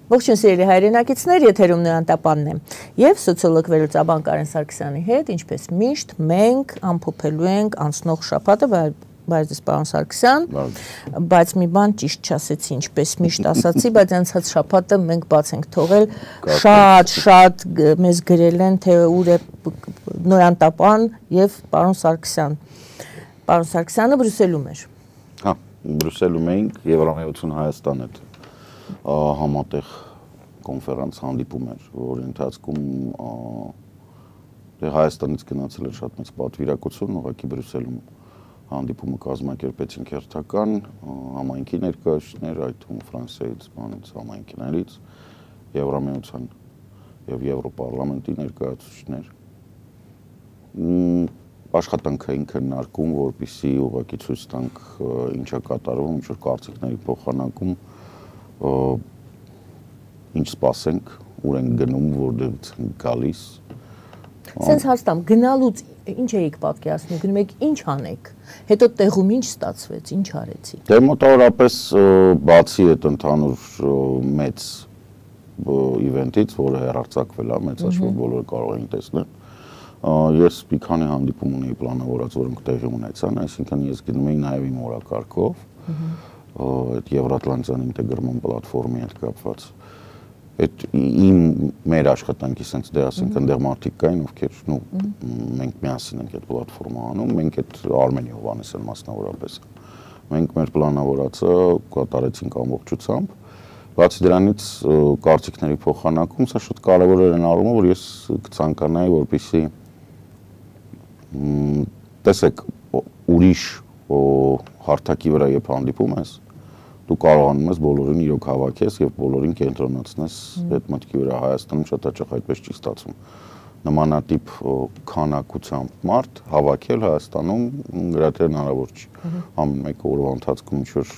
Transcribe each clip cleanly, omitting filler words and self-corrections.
Ողջույն սիրելի հայրենակիցներ, եթերում Նոյան Տապանն է եւ սոցիոլոգ վերլուծաբան Կարեն Սարգսյանի հետ, ինչպես միշտ, մենք ամփոփելու ենք անցնող շաբաթը, բայց պարոն Սարգսյան, բայց մի բան ճիշտ չասեցի, ինչպես միշտ ասացի, բայց անցած շաբաթը մենք բաց ենք թողել, շատ մեզ գրել են, թե ուր է Նոյան Տապան եւ պարոն Սարգսյան։ Պարոն Սարգսյանը Բրյուսելում էր։ Հա, Բրյուսելում էինք Եվրամիություն Հայաստան հետ համատեղ կոնֆերանս հանդիպում էր, որի ընթացքում Հայաստանից գնացել էր շատ մեծ պատվիրակություն, ուղղակի Բրյուսելում հանդիպումը կազմակերպեցինք հերթական համայնքի ներկայացուցիչներ, այդ թվում Ֆրանսիայից, համայնքներից, Եվրամիության եւ Եվրոպարլամենտի ներկայացուցիչներ։ Աշխատանքային քննարկում, որպեսզի ուղղակի ցույց տանք ինչ է կատարվում, ինչ որ կարծիքների փոխանակում, ինչ սպասենք, ուր ենք գնում, որտեղից ենք գալիս։ Սենց հաստամ, գնալուց ինչ էիք պատկերացնում, գնում եք ինչ անեք, հետո տեղում ինչ ստացվեց, ինչ արեցի։ Դե մոտավորապես բացի այդ ընդհանուր մեծ իվենտից, որը հեռարձակվել է, մեծ աշխարհ բոլորը կարող էին տեսնել, ես մի քանի հանդիպում ունեի պլանավորած, որոնք տեղի ունեցան, այսինքն ես գնում էի նաև իմ օրակարգով, այդ Եվրատլանտյան ինտեգրման պլատֆորմի հետ կապված։ Այդ մեր աշխատանքի sense դե ասենք այնտեղ մարդիկ կային, ովքեր մենք միասին ենք այդ պլատֆորմը անում, մենք այդ Արմենի Հովհաննիսյան մասնավորապես։ Մենք մեր պլանավորածը կատարեցինք ամբողջությամբ։ Բացի դրանից կարծիքների փոխանակում, սա շատ կարևոր էր այն առումով, որ ես կցանկանայի, որպեսզի տեսեք ուրիշ հարթակի վրա երբ հանդիպում ես, դու կարողանում ես բոլորին իրոք հավաքես եւ բոլորին կենտրոնացնես այդ մտքի վրա։ Հայաստանում շատ հաճախ այդպես չի ստացվում։ Նմանատիպ քանակությամբ մարդ հավաքել Հայաստանում գրեթե հնարավոր չի։ Ամեն մեկը օրվա ընթացքում ինչ-որ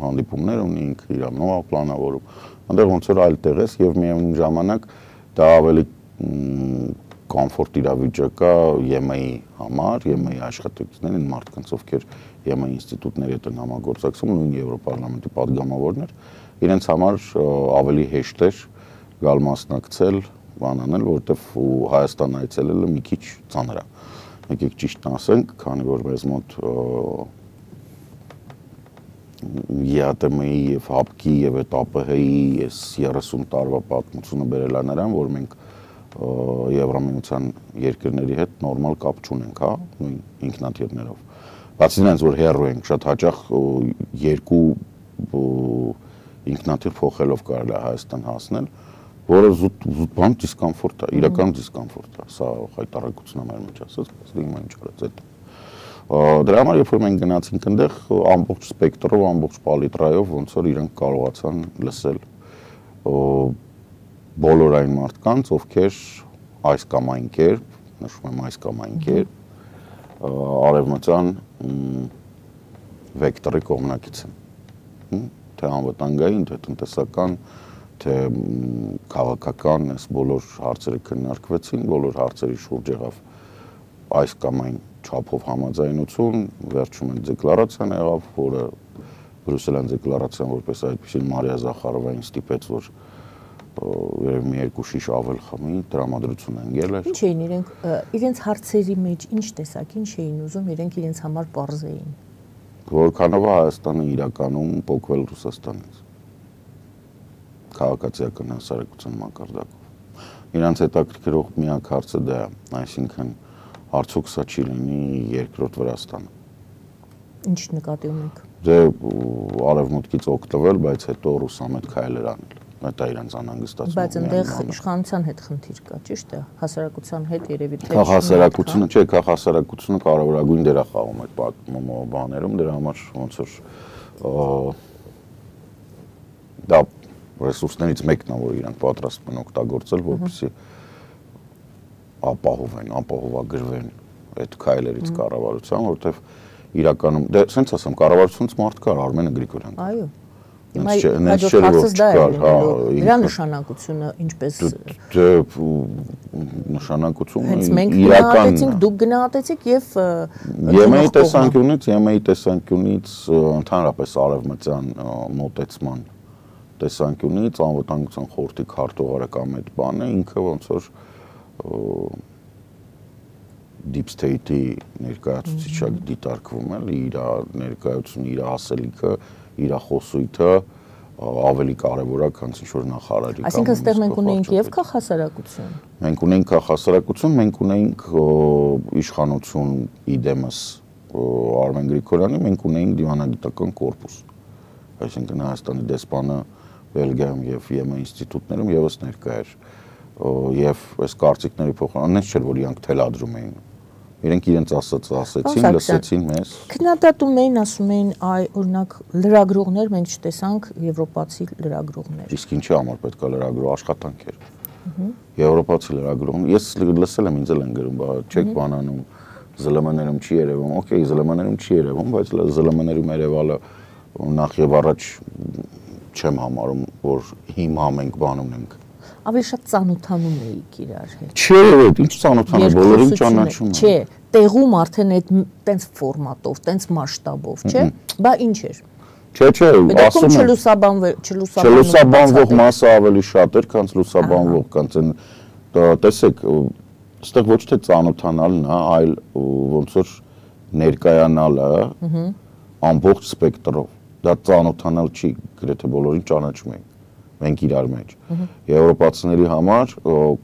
հանդիպումներ ունի, ինքը իր նոր պլանավորում։ Այնտեղ ոնց որ այլ տեղ ես եւ միևնույն ժամանակ դա ավելի կոմֆորտ իրավիճակ է ԵՄ-ի համար, ԵՄ-ի աշխատակիցներին, մարդկանց, ովքեր ԵՄ-ի ինստիտուտների հետ են համագործակցում, նույն Եվրոպարլամենտի падգամավորներ, իրենց համար ավելի հեշտ էր գալ մասնակցել, բան անել, որովհետև Հայաստան այցելելը մի քիչ ծանր է։ Եկեք ճիշտ ասենք, քանի որ մեզ մոտ ԵԱՏՄ-ի եւ ՀԱՊԿ-ի եւ այդ ԱՊՀ-ի այս 30 տարվա պատմությունը բերել է նրան, որ մենք Եվրամիության երկրների հետ նորմալ կապ չունենք, հա, նույն ինքնաթիռներով։ Բացի դրանից, որ հեռու ենք, շատ հաճախ երկու ինքնաթիռ փոխելով կարելի է Հայաստան հասնել, որը զուտ բան դիսկոմֆորտ է, իրական դիսկոմֆորտ է, սա խայտարակություն է մեր մեջ ասած, բայց հիմա ինչ արած այդ։ Դրա համար երբ որ մենք գնացինք այնտեղ ամբողջ սպեկտրով, ամբողջ պալիտրայով ոնց որ իրենք կարողացան լսել բոլոր այն մարդկանց, ովքեր այս կամ այն կերպ, նշում եմ այս կամ այն կերպ, արևմտյան վեկտորի կողմնակից են, թե անվտանգային, թե տնտեսական, թե քաղաքական, այս բոլոր հարցերը քննարկվեցին, բոլոր հարցերի շուրջ եղավ այս կամ այն չափով համաձայնություն, վերջում այդ դեկլարացիան եղավ, որը Բրյուսելյան դեկլարացիան որպես այդպիսին Մարիա Զախարովային ստիպեց, որ երևի մի երկու շիշ ավել խմի, տրամադրություն ընկել էր։ Ինչ էին իրենց հարցերի մեջ, ինչ տեսակ, ինչ էին ուզում, իրենք իրենց համար պարզեին։ Որքանով է Հայաստանը իրականում փոխվել Ռուսաստանից։ Քաղաքացիական հասարակության մակարդակով։ Իրանց հետաքրքրող միակ հարցը դա է, այսինքն արդյոք սա չի լինի երկրորդ Վրաստանը։ Ինչ նկատի ունեք։ Դե արևմուտքից օգտվել, բայց հետո ռուսամետ քայլեր անել։ Դա իրանց անհանգստացնում է։ Բայց այնտեղ իշխանության հետ խնդիր կա, ճիշտ է, հասարակության հետ երևի թե հասարակությունը, չէ, հասարակությունը կարևորագույն դեր է խաղում այդ բաներում, դրա համար ոնց որ դա ռեսուրսներից մեկն է, որ իրանք պատրաստ են օգտագործել, որպեսզի ապահովեն, ապահովագրվեն այդ քայլերից կառավարության, որովհետև իրականում, դե սենց ասեմ, կառավարությունից մարդ կար, Արմենը Գրիգորյան։ Այո։ Հիմա հարցս դա է, դրա նշանակությունը ինչպես նշանակությունը հենց մենք գնահատեցինք, դուք գնահատեցիք եւ ԵՄ-ի տեսանկյունից ընդհանրապես արևմտյան մոտեցման տեսանկյունից անվտանգության խորհրդի քարտուղարը կամ այդ բանը ինքը ոնց որ deep state-ի ներկայացուցիչը դիտարկվում է, իր ներկայությունը, իր ասելիքը, իր խոսույթը ավելի կարևոր է, քան ինչ-որ նախարարի կամ։ Այսինքն ստեղ մենք ունեինք եւ քաղաքասարակություն։ Մենք ունեինք քաղաքասարակություն, մենք ունեինք իշխանություն իդեմս Արմեն Գրիգորյանի, մենք ունեինք դիվանագիտական կորպուս։ Այսինքն Հայաստանի դեսպանը Բելգիայում եւ ԵՄ ինստիտուտներում եւս ներկա էր։ Եվ այս կարծիքների փոխանցումն չէր, որ իրանք թելադրում էին։ Իրենք իրենց ասեցին, լսեցին մեզ։ Քննադատում էին, ասում էին, այ օրինակ լրագրողներ մենք չտեսանք եվրոպացի լրագրողներ։ Իսկ ինչի համար պետք է լրագրող աշխատանք էր։ Եվրոպացի լրագրողներ, ես լսել եմ, ինձ էլ են գրում, բա չեք բանանում, ԶԼՄ-ներում չի երևում, օքեյ, ԶԼՄ-ներում չի երևում, բայց ԶԼՄ-ներում երևալը նախ եւ առաջ չեմ համարում, որ հիմա մենք բանում ենք։ Ավելի շատ ծանոթանում էիք իրար հետ։ Չէ, ինչ ծանոթանում, բոլորին ճանաչում եմ։ Չէ, տեղում արդեն այդ տենց ֆորմատով, տենց մասշտաբով, չէ՞։ Բա ինչ էր։ Չէ, ասում եմ։ Չլուսաբանվող մասը ավելի շատ էր, քան լուսաբանվող, քան այն տեսեք, այստեղ ոչ թե ծանոթանալն է, այլ ոնց որ ներկայանալը ամբողջ սպեկտրով։ Դա ծանոթանալ չի, գրեթե բոլորին ճանաչում ենք։ Մենք իրար մեջ։ Եվրոպացիների համար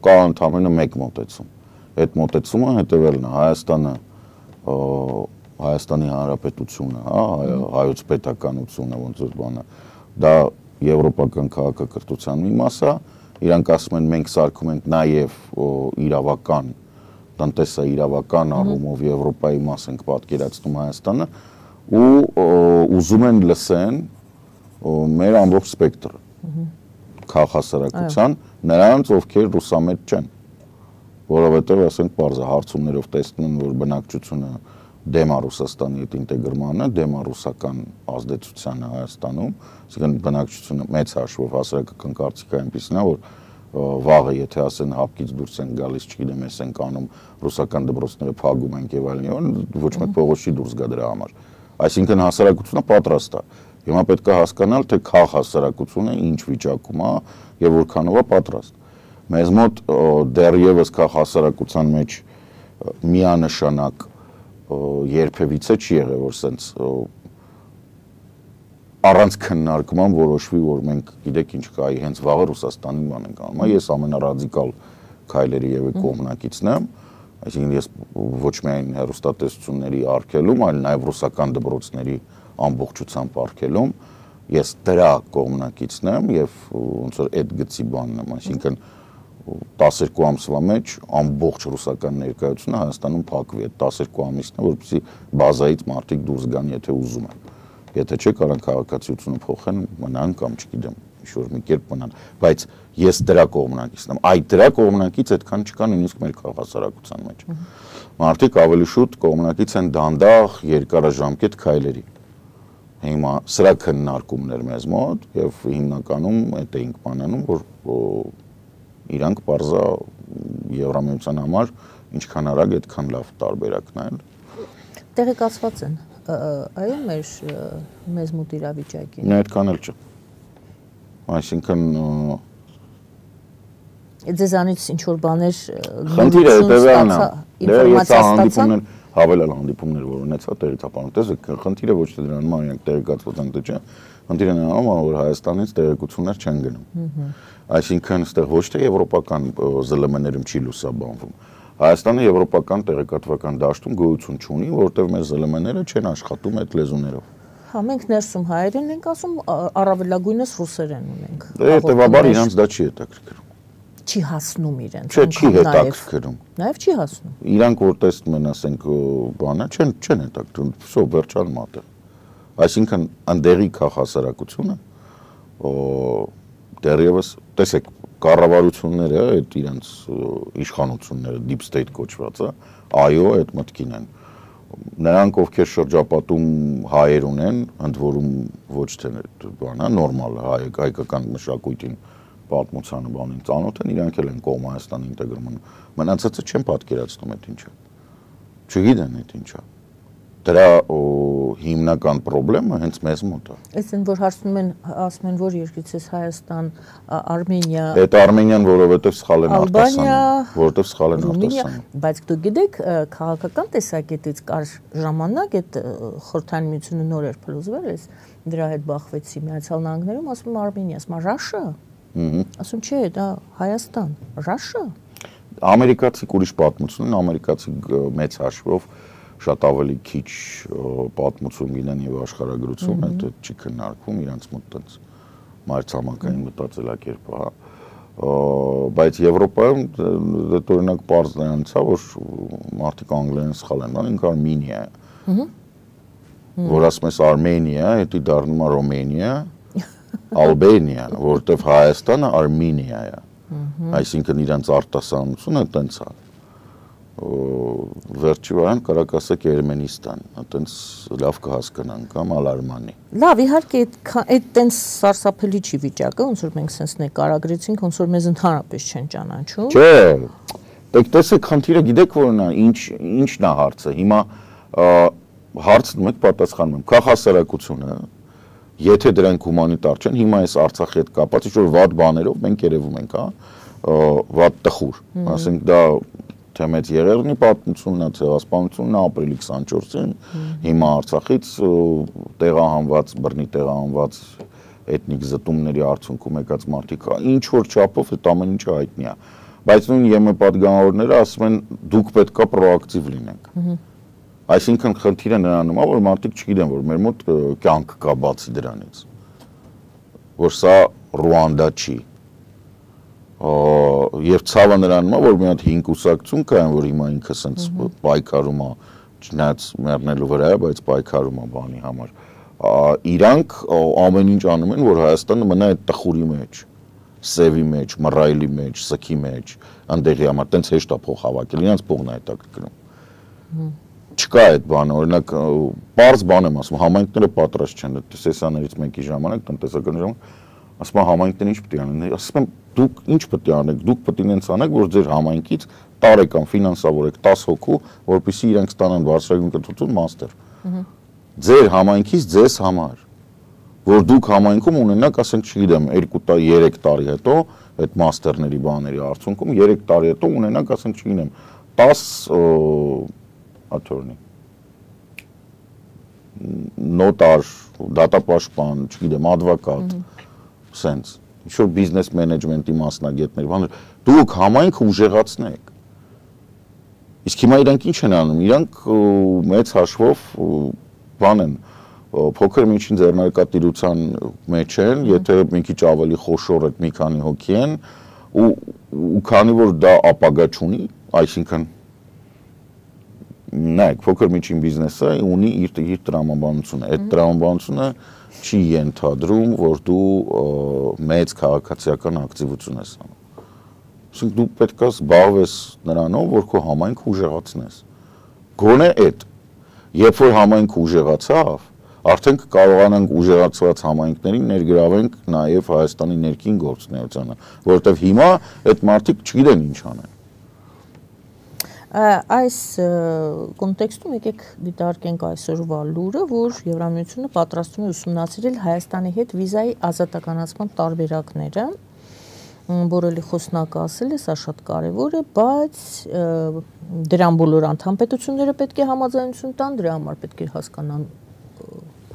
կա ընդամենը մեկ մոտեցում։ Այդ մոտեցումը հետևելն է Հայաստանի Հանրապետությունը, հայոց պետականությունը, ոնց որ բանը, դա եվրոպական քաղաքակրթության մի մաս է, իրանք ասում են մենք սարքում ենք նաև իրավական, տնտեսաիրավական առումով Եվրոպայի մաս ենք պատկերացնում Հայաստանը ու ուզում են լսեն մեր ամբողջ սպեկտրը քաղաքասարակության նրանց, ովքեր ռուսամետ չեն, որովհետև ասենք պարզ է հարցումներով տեսնում են, որ բնակչությունը դեմ է Ռուսաստանի հետ ինտեգրմանը, դեմ է ռուսական ազդեցությանը Հայաստանում, այսինքն բնակչությունը մեծ հաշվով հասարակական կարծիքը այնպիսին է, որ վաղը եթե ասեն հապկից դուրս են գալիս, չգիտեմ, ես ենք անում ռուսական դպրոցները փակում ենք եւ այլն, ոչ մեկ փողոց չի դուրս գա դրա համար։ Այսինքն հասարակությունը պատրաստ է։ Հիմա պետք է հասկանալ, թե քաղաքասարակությունը ինչ վիճակում է եւ որքանով է պատրաստ։ Մեզ մոտ դեռևս քաղաքասարակության մեջ միանշանակ երբևիցե չի եղել, որ սենց առանց քննարկման որոշվի, որ մենք գիտեք ինչ կա, հենց վաղը Ռուսաստանին բան ենք անում։ Ես ամենառադիկալ քայլերի եւ կողմնակիցն եմ, այսինքն ես ոչ միայն հեռուստատեսությունների արգելում, այլ նաեւ ռուսական դպրոցների ամբողջությամբ արգելում, ես դրա կողմնակիցն եմ եւ ոնց որ այդ գծի բանն եմ, այսինքն 12 ամսվա մեջ ամբողջ ռուսական ներկայությունը Հայաստանում փակվի, այդ 12 ամիսն է, որպեսզի բազայից մարդիկ դուրս գան, եթե ուզում են։ Եթե չէ, կարան քաղաքացիությունը փոխեն, մնան կամ չգիտեմ, ինչ-որ մի կերպ մնան, բայց ես դրա կողմնակիցն եմ։ Այդ դրա կողմնակից այդքան չկա նույնիսկ մեր քաղաքասարակության մեջ։ Մարդիկ ավելի շուտ կողմնակից են դանդաղ երկարաժամկետ քայլերի։ Հիմա սրա քննարկումներ մեզ մոտ եւ հիմնականում այդ էինք բանանում, որ իրանք բարձա Եվրամիության համար ինչքան արագ այդքան լավ տարբերակն է։ Տեղեկացված են, այո, մեզ մոտ իրավիճակին։ Այդքան էլ չէ։ Այսինքն ձեզանից ինչ որ բաներ խնդիրը հետևյալն է։ Ինֆորմացիա ստացան հավելալ հանդիպումներ, որ ունեցա տեղեկապանում։ Տեսեք, խնդիրը ոչ թե դրանում է, իրենք տեղեկացված են, թե չէ, խնդիրը նրանում է, որ Հայաստանից տեղեկություններ չեն գնում։ Այսինքն, այստեղ ոչ թե եվրոպական ԶԼՄ-ներում չի լուսաբանվում։ Հայաստանը եվրոպական տեղեկատվական դաշտում գոյություն չունի, որտեղ մեր ԶԼՄ-ները չեն աշխատում այդ լեզուներով։ Հա, մենք ներսում հայերեն ենք ասում, առավելագույնս ռուսերեն ունենք։ Հետևաբար իրանց դա չի հետաքրքրում։ Չի հասնում իրենց։ Չէ, չի հետաքրքրում։ Նաև չի հասնում։ Իրանք որ տեսնում են, ասենք, բանը, չեն հետաքրքրում, всё, վերջալ մատը։ Այսինքն, ընդդեղի քաղաքասարակությունը դեռևս, տեսեք, կառավարությունները, այդ իրանց իշխանությունները, deep state կոչվածը, այո, այդ մտքին են։ Նրանք, ովքեր շրջապատում հայեր ունեն, ընդ որում ոչ թե բանը, նորմալ հայկական մշակույթին պատմությանը բանին ծանոթ են, իրանք էլ են կողմ Հայաստանի ինտեգրման։ Մնացածը չեն պատկերացնում այդ ինչը։ Չգիտեն այդ ինչա։ դրա հիմնական խնդրեմը հենց մեզ մոտ է։ Այսինքն որ ասում են որ երկրից է Հայաստան, Արմենիա։ Այդ Արմենիան որովհետև սխալ են արտասանում, որովհետև սխալ են արտասանում։ Բայց դուք գիտեք, քաղաքական տեսակետից կար ժամանակ այդ Խորհրդային Միությունը նոր էր փլուզվել, դրա հետ բախվեցի Միացյալ Նահանգներում, ասում Արմենիա, ասում Ռաշա։ Ասում չէ, դա Հայաստան, Ռաշա։ Ամերիկացի ուրիշ պատմություն են, ամերիկացի մեծ հաշվով շատ ավելի քիչ պատմություն գինեն եւ աշխարհագրություն, դա չի քննարկվում իրանց մոտ տենց մայրցամաքային մտածելակերպը, հա։ Բայց Եվրոպայում դա օրինակ պարզ նրանց է, որ մարդիկ անգլերեն սխալ են անում, ինքը Արմենիա է։ Որ ասում ես Արմենիա, դա դառնում է Ռոմենիա, Ալբանիա, որտեվ Հայաստանը Արմենիա է։ Այսինքն իրանց արտասանությունը տենց է։ Վերջի վարան կարակ ասեք Երմենիստան, տենց լավ կհասկանան կամ Ալարմանի։ Լավ, իհարկե այդ տենց սարսափելի չի վիճակը, ոնց որ մենք սենց նկարագրեցինք, ոնց որ մեզ ընդհանրապես չեն ճանաչում։ Չէ։ Դեք տեսեք, խնդիրը գիտեք որն է, ինչն է հարցը։ Հիմա հարցնում եք, պատասխանում եմ, քաղաքասարակությունը, եթե դրանք հումանիտար չեն, հիմա այս Արցախի հետ կապած ինչ-որ վատ բաներով մենք երևում ենք, հա, վատ տխուր, ասենք դա թե մեծ Երևանի պատմությունն է, ցեղասպանությունն է ապրիլի 24-ին, հիմա Արցախից տեղահանված, բռնի տեղահանված էթնիկ զտումների արդյունքում եկած մարդիկ, ինչ որ չափով այդ ամեն ինչը հայտնի է, բայց նույն ԵՄ պատգամավորները ասում են դուք պետքա պրոակտիվ լինենք։ Այսինքն խնդիրը նրանում է, որ մարդիկ չգիտեն, որ մեր մոտ կյանք կա բացի դրանից, որ սա Ռուանդա չի։ Եվ ցավը նրանում է, որ մի հատ 5 կուսակցություն կային, որ հիմա ինքը սենց պայքարում է, չնայած մեռնելու վրա է, բայց պայքարում է բանի համար։ Իրանք ամեն ինչ անում են, որ Հայաստանը մնա այդ տխուրի մեջ, սևի մեջ, մռայլի մեջ, սքի մեջ, այնտեղի համար տենց հեշտ է փող հավաքել, իրանց փողն է հետաքրքրում։ Չկա այդ բանը, օրինակ, պարզ բան եմ ասում, համայնքները պատրաստ չեն, սեսիաներից մեկի ժամանակ, տնտեսական ժամանակ, ասում եմ համայնքները ինչ պետք է անեն, ասում եմ դուք ինչ պետք է անեք, դուք պետք է ինձ անեք, որ ձեր համայնքից տարեկան ֆինանսավորեք 10 հոգու, որպեսզի իրենք ստանան բարձրագույն կրթություն մաստեր։ Ձեր համայնքից ձեզ համար, որ դուք համայնքում ունենաք, ասենք, չգիտեմ, 2-3 տարի հետո այդ մաստերների բաների արդյունքում 3 տարի հետո ունենաք, ասենք, չգիտեմ, 10 attorney նոտար, դատապաշտպան, չգիտեմ, advocat, sense, ինչ-որ բիզնես մենեջմենտի մասնագետներ, բաներ, դուք համայնքը ուժեղացնեք։ Իսկ հիմա իրանք ինչ են անում, իրանք մեծ հաշվով բան են, փոքր միջին ձեռնարկատիրության մեջ են, եթե մի քիչ ավելի խոշոր այդ մի քանի հոգի են, ու քանի որ դա ապագա չունի, այսինքն նայեք, փոքր միջին բիզնեսը ունի իր տրամաբանությունը, այդ տրամաբանությունը չի ենթադրում, որ դու մեծ քաղաքացիական ակտիվություն ես անում։ Այսինքն դու պետք է զբաղվես նրանով, որ քո համայնքը ուժեղացնես։ Գոնե այդ, երբ որ համայնքը ուժեղացավ, արդեն կարողանանք ուժեղացված համայնքներին ներգրավենք նաև Հայաստանի ներքին գործունեությանը, որովհետև հիմա այդ մարդիկ չգիտեն ինչ անեն։ Այս կոնտեքստում եկեք դիտարկենք այսօրվա լուրը, որ Եվրամիությունը պատրաստվում է ուսումնասիրել Հայաստանի հետ վիզայի ազատականացման տարբերակները, որը խոսնակը ասել է, սա շատ կարևոր է, բայց դրան բոլոր անդամ պետությունները պետք է համաձայնություն տան, դրա համար պետք է հասկանան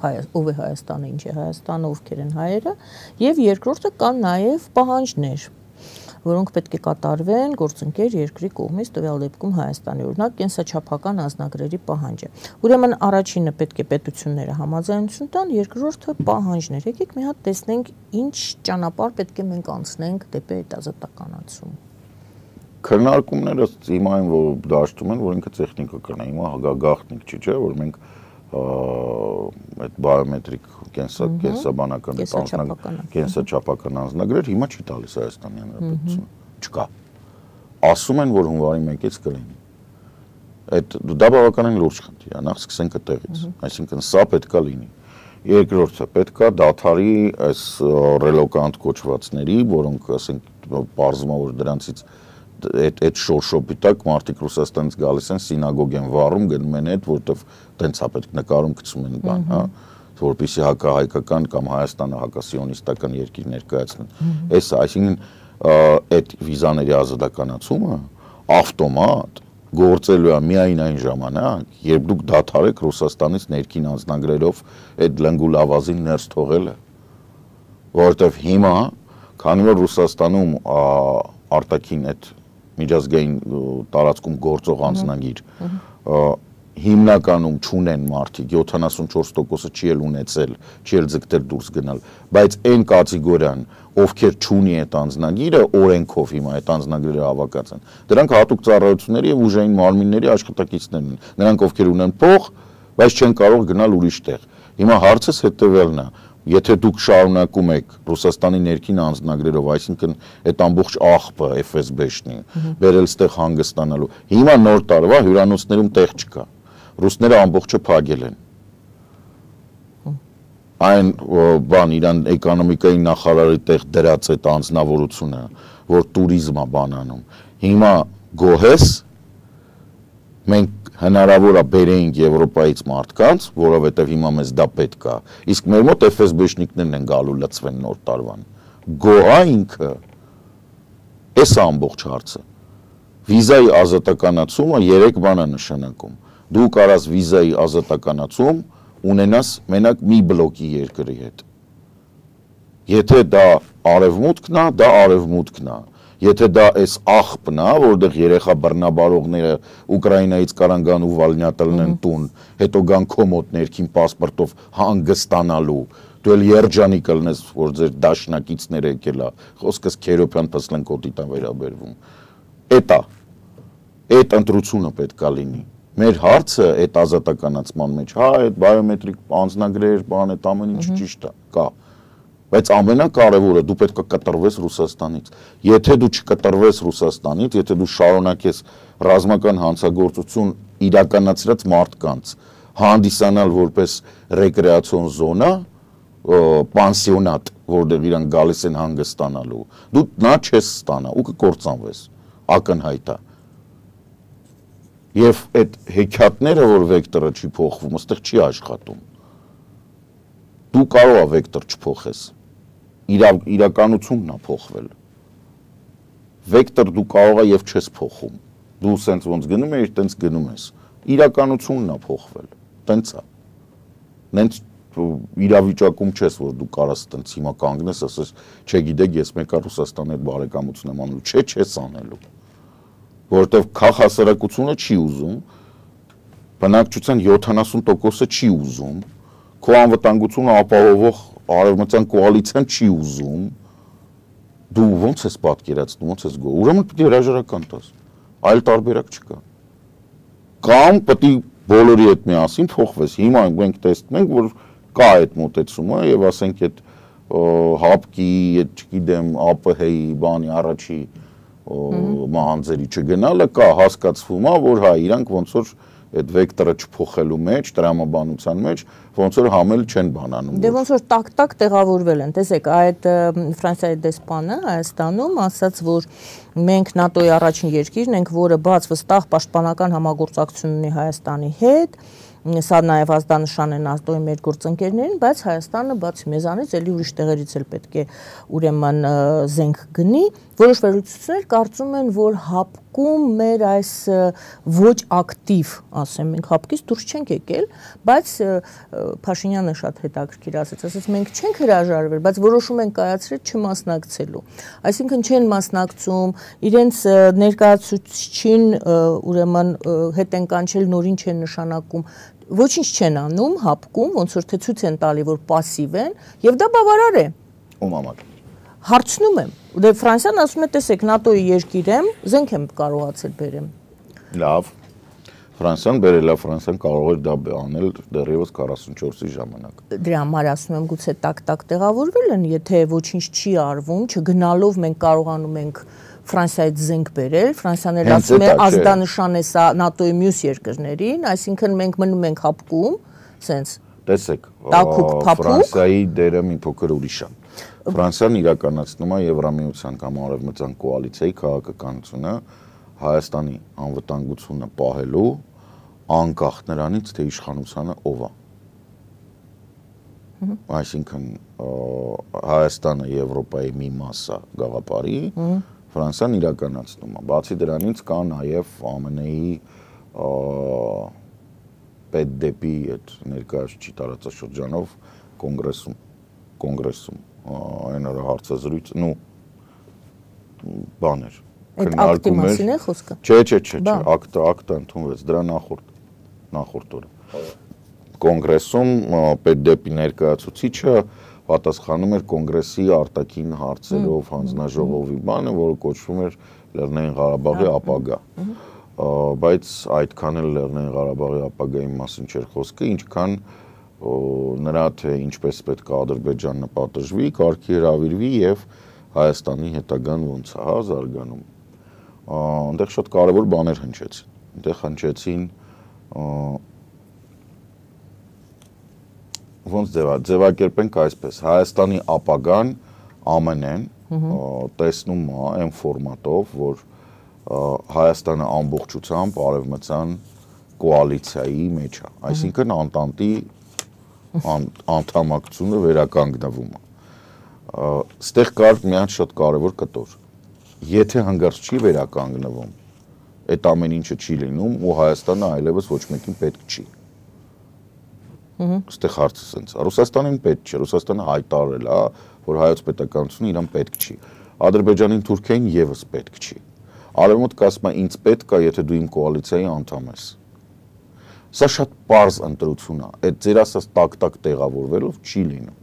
ով է Հայաստանը, ինչ է Հայաստանը, ովքեր են հայերը, եւ երկրորդը կան նաեւ պահանջներ, որոնք պետք է կատարվեն գործընկեր երկրի կողմից, տվյալ դեպքում Հայաստանի, օրինակ, կենսաչափական անձնագրերի պահանջը։ Ուրեմն առաջինը պետք է պետությունները համաձայնություն տան, երկրորդը պահանջներ։ Եկեք մի հատ տեսնենք, ինչ ճանապարհ պետք է մենք անցնենք դեպի այդ ազատականացում։ Քննարկումները հիմա այն որ դաշտում են, որ ինքը տեխնիկա կրնա, հիմա գաղտնիք չի, չէ, որ մենք այդ բիոմետրիկ կենսաբանական կենսաչափական անձնագրեր հիմա չի տալիս Հայաստանի Հանրապետությունը, չկա։ Ասում են, որ հունվարի 1-ից կլինի։ Այդ դա բավականին լուրջ խնդիր է, նախ սկսենք այդտեղից, այսինքն սա պետքա լինի։ Երկրորդը պետքա դադարի այս ռելոկանտ կոչվածների, որոնք ասենք պարզվում է, որ դրանցից այդ շորշոպի տակ մարդիկ Ռուսաստանից գալիս են սինագոգ են վառում, գնում են այդ, որտեվ տենց է պետք նկարում գցում են բան, հա, որպեսզի հակահայկական կամ Հայաստանը հակասիոնիստական երկիր ներկայացնեն։ Այս այսինքն այդ վիզաների ազատականացումը ավտոմատ գործելու է միայն այն ժամանակ, երբ դուք դադարեք Ռուսաստանից ներքին անձնագրերով այդ լնգուլավազին ներս թողելը, որովհետև հիմա, քանի որ Ռուսաստանում արտաքին այդ միջազգային տարածքում գործող անձնագիր հիմնականում չունեն մարդիկ, 74%-ը չի էլ ունեցել, չի էլ ձգտել դուրս գնալ, բայց այն կատեգորիան, ովքեր չունի այդ անձնագիրը, օրենքով հիմա այդ անձնագրերը հավաքած են, դրանք հատուկ ծառայությունների եւ ուժային մարմինների աշխատակիցներն են, նրանք ովքեր ունեն փող, բայց չեն կարող գնալ ուրիշ տեղ։ Հիմա հարցս հետեւելն է, եթե դուք շարունակում եք Ռուսաստանի ներքին անձնագրերով, այսինքն այդ ամբողջ աղբը FSB-շնի, բերել ստեղ հանգստանալու, հիմա նոր տարվա հյուրանոցներում տեղ չկա։ Ռուսները ամբողջը փակել են։ Այն բան իրան էկոնոմիկայի նախարարի տեղ դրած այդ անձնավորությունը, որ туриզմը բանանում։ Հիմա գոհես մենք հնարավոր է բերեինք Եվրոպայից մարդկանց, որովհետև հիմա մեզ դա պետք է։ Իսկ մեր մոտ FSB-շնիկներն են գալու լծվեն նոր տարվան։ Գոհա ինքը։ Էս է ամբողջ հարցը։ Վիզայի ազատականացումը 3 բան է նշանակում։ Դու կարաս վիզայի ազատականացում ունենաս մենակ մի բլոկի երկրի հետ։ Եթե դա արևմուտքն է, դա արևմուտքն է։ Եթե դա այս աղբն է, որտեղ երեխա բռնաբարողները Ուկրաինայից կարան գան ու վալնյատելն տուն, հետո գան քո մոտ ներքին պասպորտով հանգստանալու, դու էլ երջանիկ կլնես, որ ձեր դաշնակիցները եկել է, խոսքս Քերոփյան Պսլենկոտի տան վերաբերվում։ Էտա, այդ ընտրությունը պետք է լինի։ Մեր հարցը այդ ազատականացման մեջ, հա, այդ բայոմետրիկ անձնագրեր, բան, այդ ամեն ինչ ճիշտ է, կա։ Բայց ամենակարևորը դու պետք է կտրվես Ռուսաստանից։ Եթե դու չկտրվես Ռուսաստանից, եթե դու շարունակես ռազմական հանցագործություն իրականացրած մարդկանց հանդիսանալ որպես ռեկրեացիոն զոնա, պանսիոնատ, որտեղ իրանք գալիս են հանգստանալու, դու նա չես ստանա ու կկործանվես, ակնհայտ է։ Եվ այդ հեքիաթները, որ վեկտորը չի փոխվում, այստեղ չի աշխատում։ Դու կարող ես վեկտոր չփոխես։ Իրականությունն է փոխվել։ Վեկտոր դու կարող ես եւ չես փոխում։ Դու սենց ոնց գնում ես, տենց գնում ես։ Իրականությունն է փոխվել։ Տենց է։ Նենց իրավիճակում չես, որ դու կարաս տենց հիմա կանգնես, ասես, չգիտեք, ես մեկը Ռուսաստանի հետ բարեկամություն եմ անում, չես անելու։ Որովհետև քաղաքասարակությունը չի ուզում, բնակչության 70%-ը չի ուզում, քո անվտանգությունը ապահովող արևմտյան կոալիցիան չի ուզում, դու ո՞նց ես պատկերացնում, ո՞նց ես գոհ։ Ուրեմն պետք է հրաժարական տաս, այլ տարբերակ չկա։ Կամ պետք է բոլորի հետ միասին փոխվես։ Հիմա մենք տեսնում ենք, որ կա այդ մոտեցումը եւ ասենք այդ հապկի, այդ չգիտեմ, ԱՊՀ-ի բանի առաջի մահանձերի չգնալը կա, հասկացվում է, որ հա իրանք ոնց որ այդ վեկտորը չփոխելու մեջ, տրամաբանության մեջ ոնց որ համել չեն բանանում։ Դե ոնց որ տակ-տակ տեղավորվել են։ Տեսեք, այդ Ֆրանսիայի դեսպանը Հայաստանում ասաց, որ մենք ՆԱՏՕ-ի առաջին երկիրն ենք, որը բաց վստահ պաշտպանական համագործակցություն ունի Հայաստանի հետ։ Սա նաև ազդանշան է ՆԱՏՕ-ի մեր գործընկերներին, բայց Հայաստանը բացի մեզանից էլի ուրիշ տեղերից էլ պետք է ուրեմն զենք գնի։ Որոշ վերլուծություններ կարծում են, որ հապկում մեր այս ոչ ակտիվ, ասեմ, մենք հապկից դուրս չենք եկել, բայց Փաշինյանը շատ հետաքրքիր ասաց, մենք չենք հրաժարվել, բայց որոշում ենք կայացրել չմասնակցելու։ Այսինքն չեն մասնակցում, իրենց ներկայացուցչին ուրեմն հետ են կանչել, նորին չեն նշանակում, ոչինչ չեն անում, հապկում, ոնց որ թե ցույց են տալի, որ пассив են, եւ դա բավարար է։ Ում համար։ Հարցնում եմ, դե Ֆրանսիան ասում է, տեսեք, ՆԱՏՕ-ի երկիր եմ, զենք եմ կարողացել բերեմ։ Լավ։ Ֆրանսիան բերել է, Ֆրանսիան կարող էր դա անել դեռևս 44-ի ժամանակ։ Դրա համար ասում եմ, գուցե տակ-տակ տեղավորվել են, եթե ոչինչ չի արվում, չգնալով մենք կարողանում ենք Ֆրանսիայից զենք բերել, Ֆրանսիան էլ ասում է ազդանշան է սա ՆԱՏՕ-ի մյուս երկրներին, այսինքն մենք մնում ենք հապկում, սենց տեսեք, տաքուկ փափուկ, Ֆրանսիայի դերը մի փոքր ուրիշ է։ Ֆրանսիան իրականացնում է Եվրամիության կամ Արևմտյան կոալիցիայի քաղաքականությունը Հայաստանի անվտանգությունը պահելու անկախ նրանից, թե իշխանությանը ով է։ Այսինքն Հայաստանը Եվրոպայի մի մաս է գաղափարի, Ֆրանսիան իրականացնում է։ Բացի դրանից կա նաև ԱՄՆ-ի պետդեպի այդ ներկայացուցիչ տարածաշրջանով կոնգրեսում այն արա հարցազրույց, բաներ Այդ ակտի մասին է խոսքը։ Չէ, ակտը ընդունվեց դրա նախորդ օրը։ Կոնգրեսում պետդեպի ներկայացուցիչը պատասխանում էր կոնգրեսի արտաքին հարցերով հանձնաժողովի բանը, որը կոչվում էր Լեռնային Ղարաբաղի ապագա։ Բայց այդքան էլ Լեռնային Ղարաբաղի ապագայի մասին չէր խոսքը, ինչքան նրա թե ինչպես պետք է Ադրբեջանը պատժվի, կարգի հրավիրվի եւ Հայաստանի հետագան ոնց է զարգանում։ Այնտեղ շատ կարևոր բաներ հնչեցին։ Այնտեղ հնչեցին ոնց ձևակերպենք այսպես, Հայաստանի ապագան ԱՄՆ-ն տեսնում է այն ֆորմատով, որ Հայաստանը ամբողջությամբ արևմտյան կոալիցիայի մեջ է, այսինքն Անտանտի անդամակցությունը վերականգնվում է։ Ստեղ կար մի հատ շատ կարևոր կտոր։ Եթե հանգարց չի վերականգնվում, այդ ամեն ինչը չի լինում ու Հայաստանը այլևս ոչ մեկին պետք չի։ Ստեղ հարցը սենց է։ Ռուսաստանին պետք չէ, Ռուսաստանը հայտարարել է, որ հայոց պետականությունը իրան պետք չի։ Ադրբեջանին, Թուրքիային եւս պետք չի։ Արևմուտքը ասում է ինձ պետք է, եթե դու իմ կոալիցիայի անդամ ես։ Սա շատ պարզ ընտրություն է։ Այդ ձեր ասած տակ-տակ տեղավորվելով չի լինում։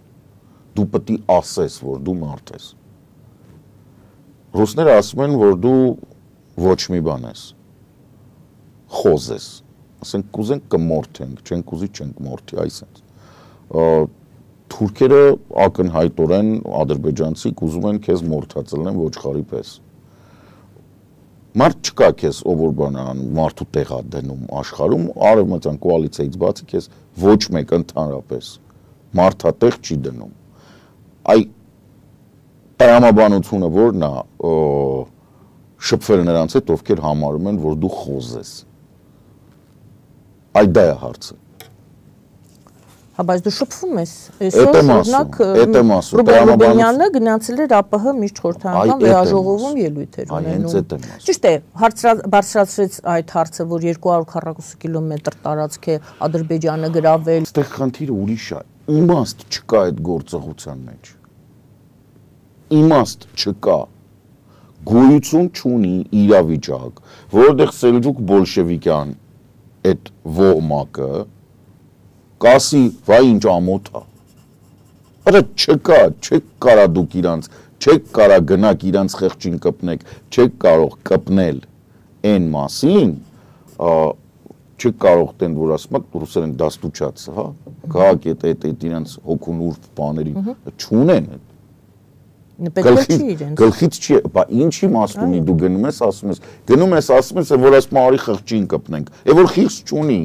Դու պետք է ասես, որ դու մարդ ես։ Ռուսները ասում են, որ դու ոչ մի բան ես։ Խոզ ես։ Ասենք կուզենք կմորթենք, չենք ուզի չենք մորթի, այսպես։ Թուրքերը ակնհայտորեն ադրբեջանցիք ուզում են քեզ մորթացնեն ոչխարի պես։ Մարդ չկա քեզ ով որ բան անում, մարդու տեղ է դնում աշխարհում, արևմտյան կոալիցիայից բացի քեզ ոչ մեկ ընդհանրապես մարդատեղ չի դնում։ Այ տրամաբանությունը որն է շփվել նրանց հետ, ովքեր համարում են, որ դու խոզ ես։ Այդ դա է հարցը։ Հա, բայց դու շփվում ես։ Այսօր օրինակ Ռուբենյանը գնացել էր ԱՊՀ միջխորհրդական վերաժողովում ելույթեր ունենում։ Ճիշտ է, բարձրացրեց այդ հարցը, որ 240 կիլոմետր տարածք է Ադրբեջանը գրավել։ Այստեղ խնդիրը ուրիշ է։ Իմաստ չկա այդ գործողության մեջ։ Իմաստ չկա։ Գոյություն չունի իրավիճակ, որտեղ Սելջուկ բոլշևիկյան այդ ոհմակը կասի, վայ ինչ ամոթ է։ Արա չկա, չեք կարա դուք իրանց, չեք կարա գնաք իրանց խեղճին կպնեք, չեք կարող կպնել այն մասին, չեք կարող տեն, որ ասում եք ռուսերեն դաստուճաց, հա, քաղաք այդ իրանց հոգուն ուրբ բաներին չունեն։ Գլխից չի, բա ինչի մաս ունի դու գնում ես, ասում ես, որ ասում արի խղճին կպնենք, որ խիղճ չունի։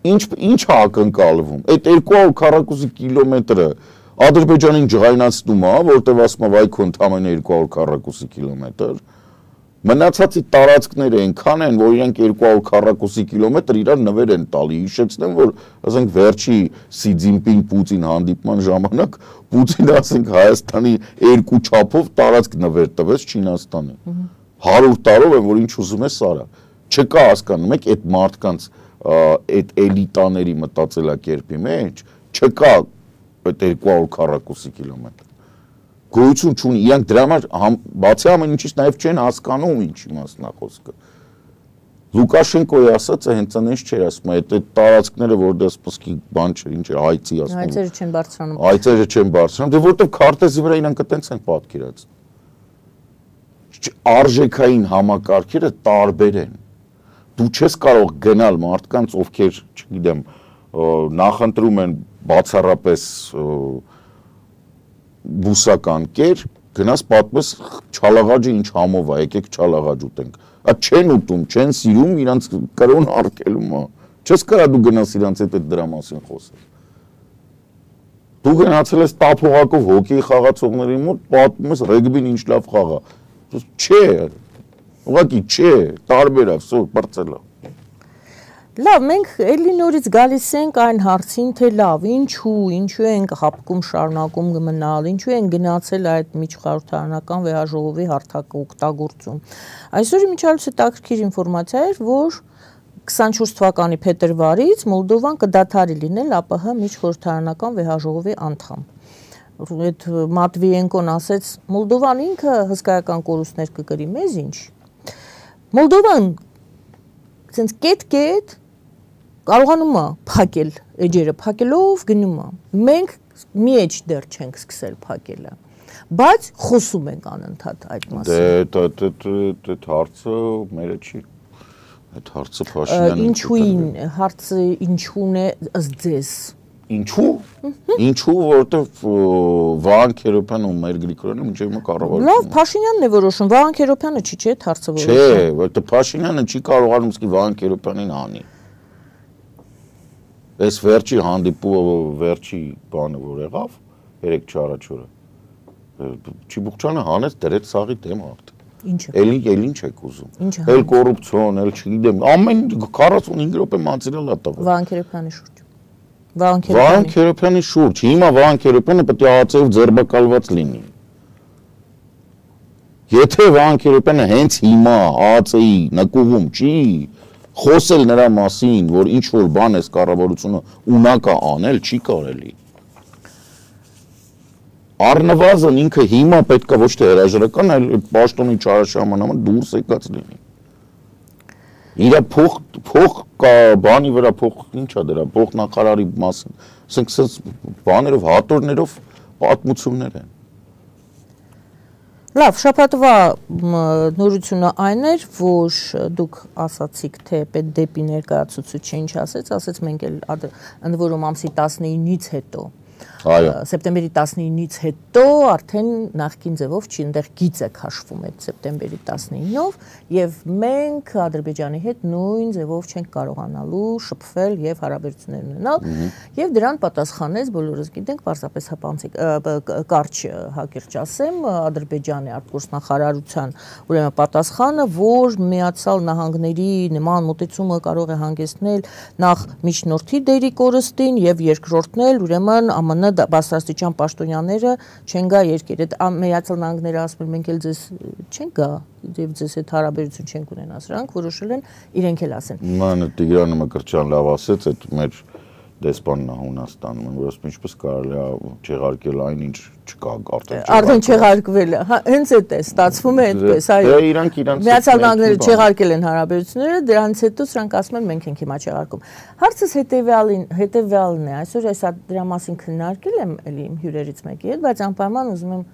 Ինչ է ակնկալվում։ Այդ 240 կիլոմետրը Ադրբեջանին ջղայնացնում է, որտեղ ասում է վայ քո ընդամենը 240 կիլոմետր։ Մնացածի տարածքները այնքան են, որ իրենք 240 կիլոմետր իրար նվեր են տալի։ Հիշեցնեմ, որ ասենք վերջի Սի Ցզինպին Պուտին հանդիպման ժամանակ Պուտինը ասենք Հայաստանի 2 չափով տարածք նվեր տվեց Չինաստանին։ 100 տարով է, որ ինչ ուզում է սարա։ Չկա հասկանում եք այդ մարդկանց այդ էլիտաների մտածելակերպի մեջ չկա այդ 240 կիլոմետր։ Գոյություն չունի, իրանք դրա համար բացի ամեն ինչից նաև չեն հասկանում ինչի մասն է խոսքը։ Լուկաշենկոյի ասածը հենց այնպես չէր ասում, այդ տարածքները որտեղ սպասքի բան չէ, ինչ է հայցի ասում։ Հայցերը չեն բարձրանում։ Հայցերը չեն բարձրանում, դե որտեղ քարտեզի վրա իրանք այտենց են պատկերած։ Արժեքային համակարգերը տարբեր են։ Դու չես կարող գնալ մարդկանց, ովքեր, չգիտեմ, նախընտրում են բացառապես բուսական կեր, գնաս պատմես Չալաղաջը ինչ համով է, եկեք Չալաղաջ ուտենք։ Այդ չեն ուտում, չեն սիրում, իրանց կրոն արկելում է։ Չես կարա դու գնաս իրանց հետ դրա մասին խոսել։ Դու գնացել ես տափողակով հոկեյ խաղացողների մոտ, պատմում ես ռեգբին ինչ լավ խաղ է։ Չէ, ուղղակի չէ, տարբեր է, վсё, բրծել է։ Լավ, մենք էլի նորից գալիս ենք այն հարցին, թե լավ, ինչու ենք հապկում շարունակում գմնալ, ինչու են գնացել այդ միջխորհրդարանական վեհաժողովի հարթակը օգտագործում։ Այսօր իմիջիայլոց հետաքրքիր ինֆորմացիա էր, որ 24 թվականի փետրվարից Մոլդովան կդադարի լինել ԱՊՀ միջխորհրդարանական վեհաժողովի անդամ։ Այդ Մատվիենկոն ասեց, Մոլդովան ինքը հսկայական կորուստներ կկրի, մեզ ինչ։ Մոլդովան ցենց կետ կարողանում է փակել էջերը, փակելով գնում է։ Մենք մի էջ դեռ չենք սկսել փակելը, բայց խոսում ենք անընդհատ այդ մասին։ Դե հարցը մերը չի։ Այդ հարցը Փաշինյանը հարցը ինչու՞ն է ըստ ձեզ։ Ինչու՞։ Ինչու, որովհետև Վահան Քերոբյանը ու մեր Գրիգորյանը մինչև հիմա կառավարում։ Լավ, Փաշինյանն է որոշում, Վահան Քերոբյանը չի, չէ՞, հարցը որոշում։ Չէ, որովհետև Փաշինյանը չի կարողանում իսկի Վահան Քերոբյանին անի։ Այս վերջի վերջի բանը որ եղավ, 3 առաջ օրը։ Չիբուխչյանը հանեց դրեց սաղի դեմ արդեն։ Ինչը։ Էլ ինչ եք ուզում։ Էլ կոռուպցիոն, էլ չգիտեմ, ամեն 45 րոպե մանցիրել է տվել։ Վահան Քերոբյանի շուրջ։ Վահան Քերոբյանի շուրջ։ Հիմա Վահան Քերոբյանը պետք է ԱԱՑ-ով ձերբակալված լինի։ Եթե Վահան Քերոբյանը հենց հիմա ԱԱՑ-ի նկուղում չի խոսել նրա մասին, որ ինչ որ բան էս կառավարությունը ունակ է անել, չի կարելի։ Առնվազն ինքը հիմա պետք է ոչ թե հրաժարական, այլ պաշտոնի չարաշահմանամը դուրս եկած լինի։ Իրա փող կա բանի վրա փող ինչա դրա փող նախարարի մասին, ասենք բաներով հատորներով պատմություններ են։ Լավ, շաբաթվա նորությունը այն էր, որ դուք ասացիք, թե պետք դեպի ներկայացուցիչ ինչ ասեց մենք էլ ընդ որում ամսի 19-ից հետո սեպտեմբերի 19-ից հետո արդեն նախկին ձևով չի այնտեղ գիծ է քաշվում այդ սեպտեմբերի 19-ով եւ մենք Ադրբեջանի հետ նույն ձևով չենք կարողանալու շփվել եւ հարաբերություններ ունենալ եւ դրան պատասխանեց բոլորս գիտենք պարզապես հապանցիկ կարճ հակիրճ ասեմ Ադրբեջանի արտգործնախարարության ուրեմն պատասխանը որ Միացյալ Նահանգների նման մոտեցումը կարող է հանգեցնել նախ միջնորդի դերի կորստին եւ երկրորդնել ուրեմն ԱՄՆ բարձրաստիճան պաշտոնյաները չեն գա երկիր։ Այդ Միացյալ Նահանգները ասում են մենք էլ ձեզ չենք գա եւ ձեզ հետ հարաբերություն չենք ունենա, սրանք որոշել են իրենք էլ ասեն։ Ման Տիգրանը Մկրտչյան լավ ասեց, այդ մեր դեսպանն է Հունաստանում, որ ասում ինչպես կարելի է չեղարկել այն ինչ չկա արդեն չեղարկվել է։ Հա, հենց այդ է, ստացվում է այդպես, այո։ Իրանք Միացյալ Նահանգները չեղարկել են հարաբերությունները, դրանից հետո սրանք ասում են մենք ենք հիմա չեղարկում։ Հարցս հետեւյալն է, այսօր ես դրա մասին քննարկել եմ էլի իմ հյուրերից մեկի հետ, բայց անպայման ուզում եմ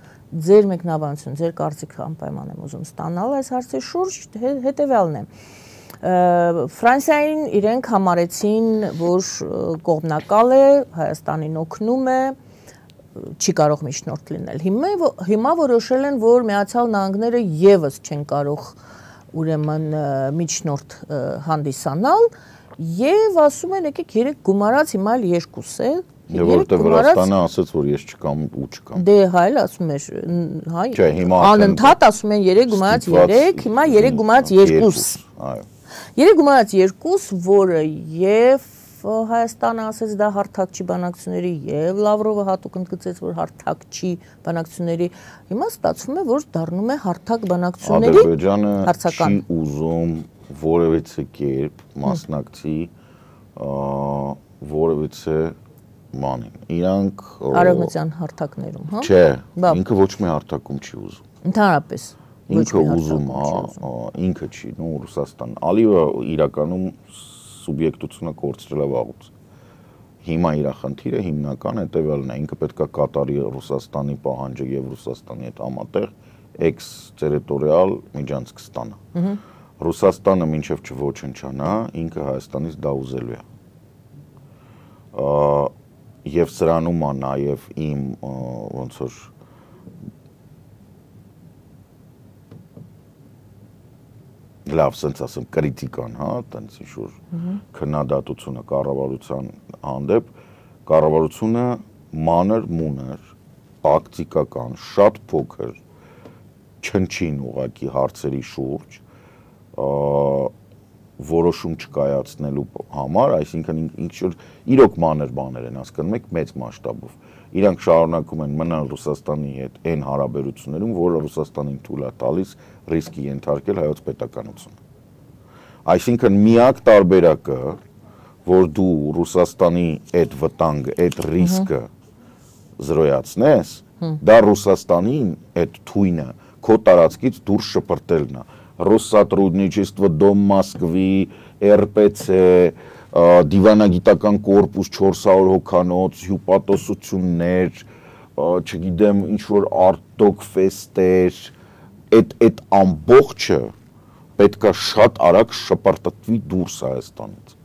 ձեր մեկնաբանություն, ձեր կարծիքը անպայման եմ ուզում ստանալ այս հարցի շուրջ, հետեւյալն է։ Ֆրանսիային իրենք համարեցին, որ կողմնակալ է, Հայաստանին օգնում է, չի կարող միջնորդ լինել։ Հիմա որոշել են, որ Միացյալ Նահանգները եւս չեն կարող ուրեմն միջնորդ հանդիսանալ եւ ասում են եկեք 3 գումարած հիմա էլ 2 է։ Եվ որտեղ Վրաստանը ասաց, որ ես չկամ ու չկամ։ Դե հայ ասում էր, հայ։ Անընդհատ ասում են 3 գումարած 3, հիմա 3 գումարած 2։ Այո։ 3 գումարած 2, որը եւ Հայաստանը ասեց դա հարթակ չի բանակցությունների եւ Լավրովը հատուկ ընդգծեց, որ հարթակ չի բանակցությունների։ Հիմա ստացվում է, որ դառնում է հարթակ բանակցությունների հարցական։ Ադրբեջանը չի ուզում որևիցե կերպ մասնակցի որևիցե մանին։ Իրանք արևմտյան հարթակներում, հա։ Չէ, ինքը ոչ մի հարթակում չի ուզում։ Ընդհանրապես ինքը ուզում է, ինքը չի, նո Ռուսաստան։ Ալիևը իրականում սուբյեկտությունը կորցրել է վաղուց։ Հիմա իր խնդիրը հիմնական հետևյալն է, ինքը պետք է կատարի Ռուսաստանի պահանջը եւ Ռուսաստանի հետ համատեղ էքստերիտորիալ միջանցք ստանա։ Ռուսաստանը մինչև չոչնչանա, ինքը Հայաստանից դա ուզելու է։ Եվ սրանում է նաեւ իմ ոնց որ լավ sense ասեմ քրիտիկան, հա, տենց ինչ-որ քննադատությունը կառավարության հանդեպ, կառավարությունը մանր մուներ, տակտիկական, շատ փոքր չնչին ուղակի հարցերի շուրջ որոշում չկայացնելու համար, այսինքն ինչ-որ իրոք մանր բաներ են հասկանում եք մեծ մասշտաբով։ Իրանք շարունակում են մնալ Ռուսաստանի հետ այն հարաբերություններում, որը Ռուսաստանին թույլ է տալիս ռիսկի ենթարկել հայոց պետականությունը։ Այսինքն միակ տարբերակը, որ դու Ռուսաստանի այդ վտանգը, այդ ռիսկը զրոյացնես, դա Ռուսաստանին այդ թույնը քո տարածքից դուրս շպրտելն է։ Россотрудничество, Дом Москвы, ՌՊՑ, դիվանագիտական կորպուս 400 հոգանոց, հյուպատոսություններ, չգիտեմ, ինչ-որ արտոք ֆեստեր, այդ ամբողջը պետք է շատ արագ շպրտվի դուրս Հայաստանից։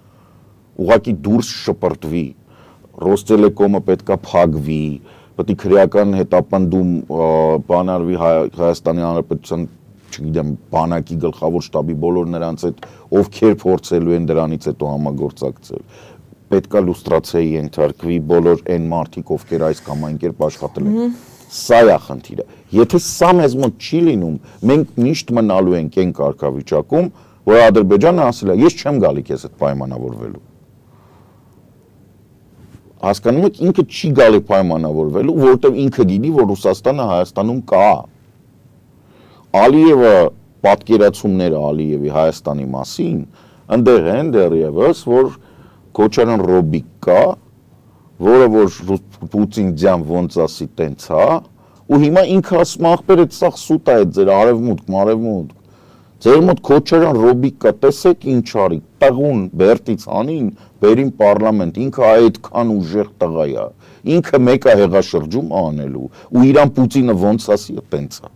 Ուղղակի դուրս շպրտվի, Ռոստելեկոմը պետք է փակվի, պետք է քրեական հետապնդում բանարվի Հայաստանի Հանրապետության չգիտեմ, բանակի գլխավոր շտաբի բոլոր նրանց հետ, ովքեր փորձելու են դրանից հետո համագործակցել։ Պետք է լուստրացիայի ենթարկվի բոլոր այն մարդիկ, ովքեր այս կամ այն կերպ աշխատել են։ Սա է խնդիրը։ Եթե սա մեզ մոտ չի լինում, մենք միշտ մնալու ենք այն կարգավիճակում, որ Ադրբեջանը ասել է, ես չեմ գալի քեզ հետ պայմանավորվելու։ Հասկանում եք, ինքը չի գալի պայմանավորվելու, որովհետև ինքը գիտի, որ Ռուսաստանը Հայաստանում կա։ Ալիևը պատկերացումները Ալիևի Հայաստանի մասին ընդեղ են դեռևս, որ Քոչարյան Ռոբիկ կա, որը որ Պուտին ձյան ոնց ասի տենց հա, ու հիմա ինքը ասում ախպեր այդ սաղ սուտ է այդ ձեր արևմուտք, մարևմուտք, ձեր մոտ Քոչարյան Ռոբիկ կա, տեսեք ինչ արի, տղուն բերտից անին, բերին պարլամենտ, ինքը այդքան ուժեղ տղա է, ինքը մեկ է հեղաշրջում անելու, ու իրան Պուտինը ոնց ասի տենց է։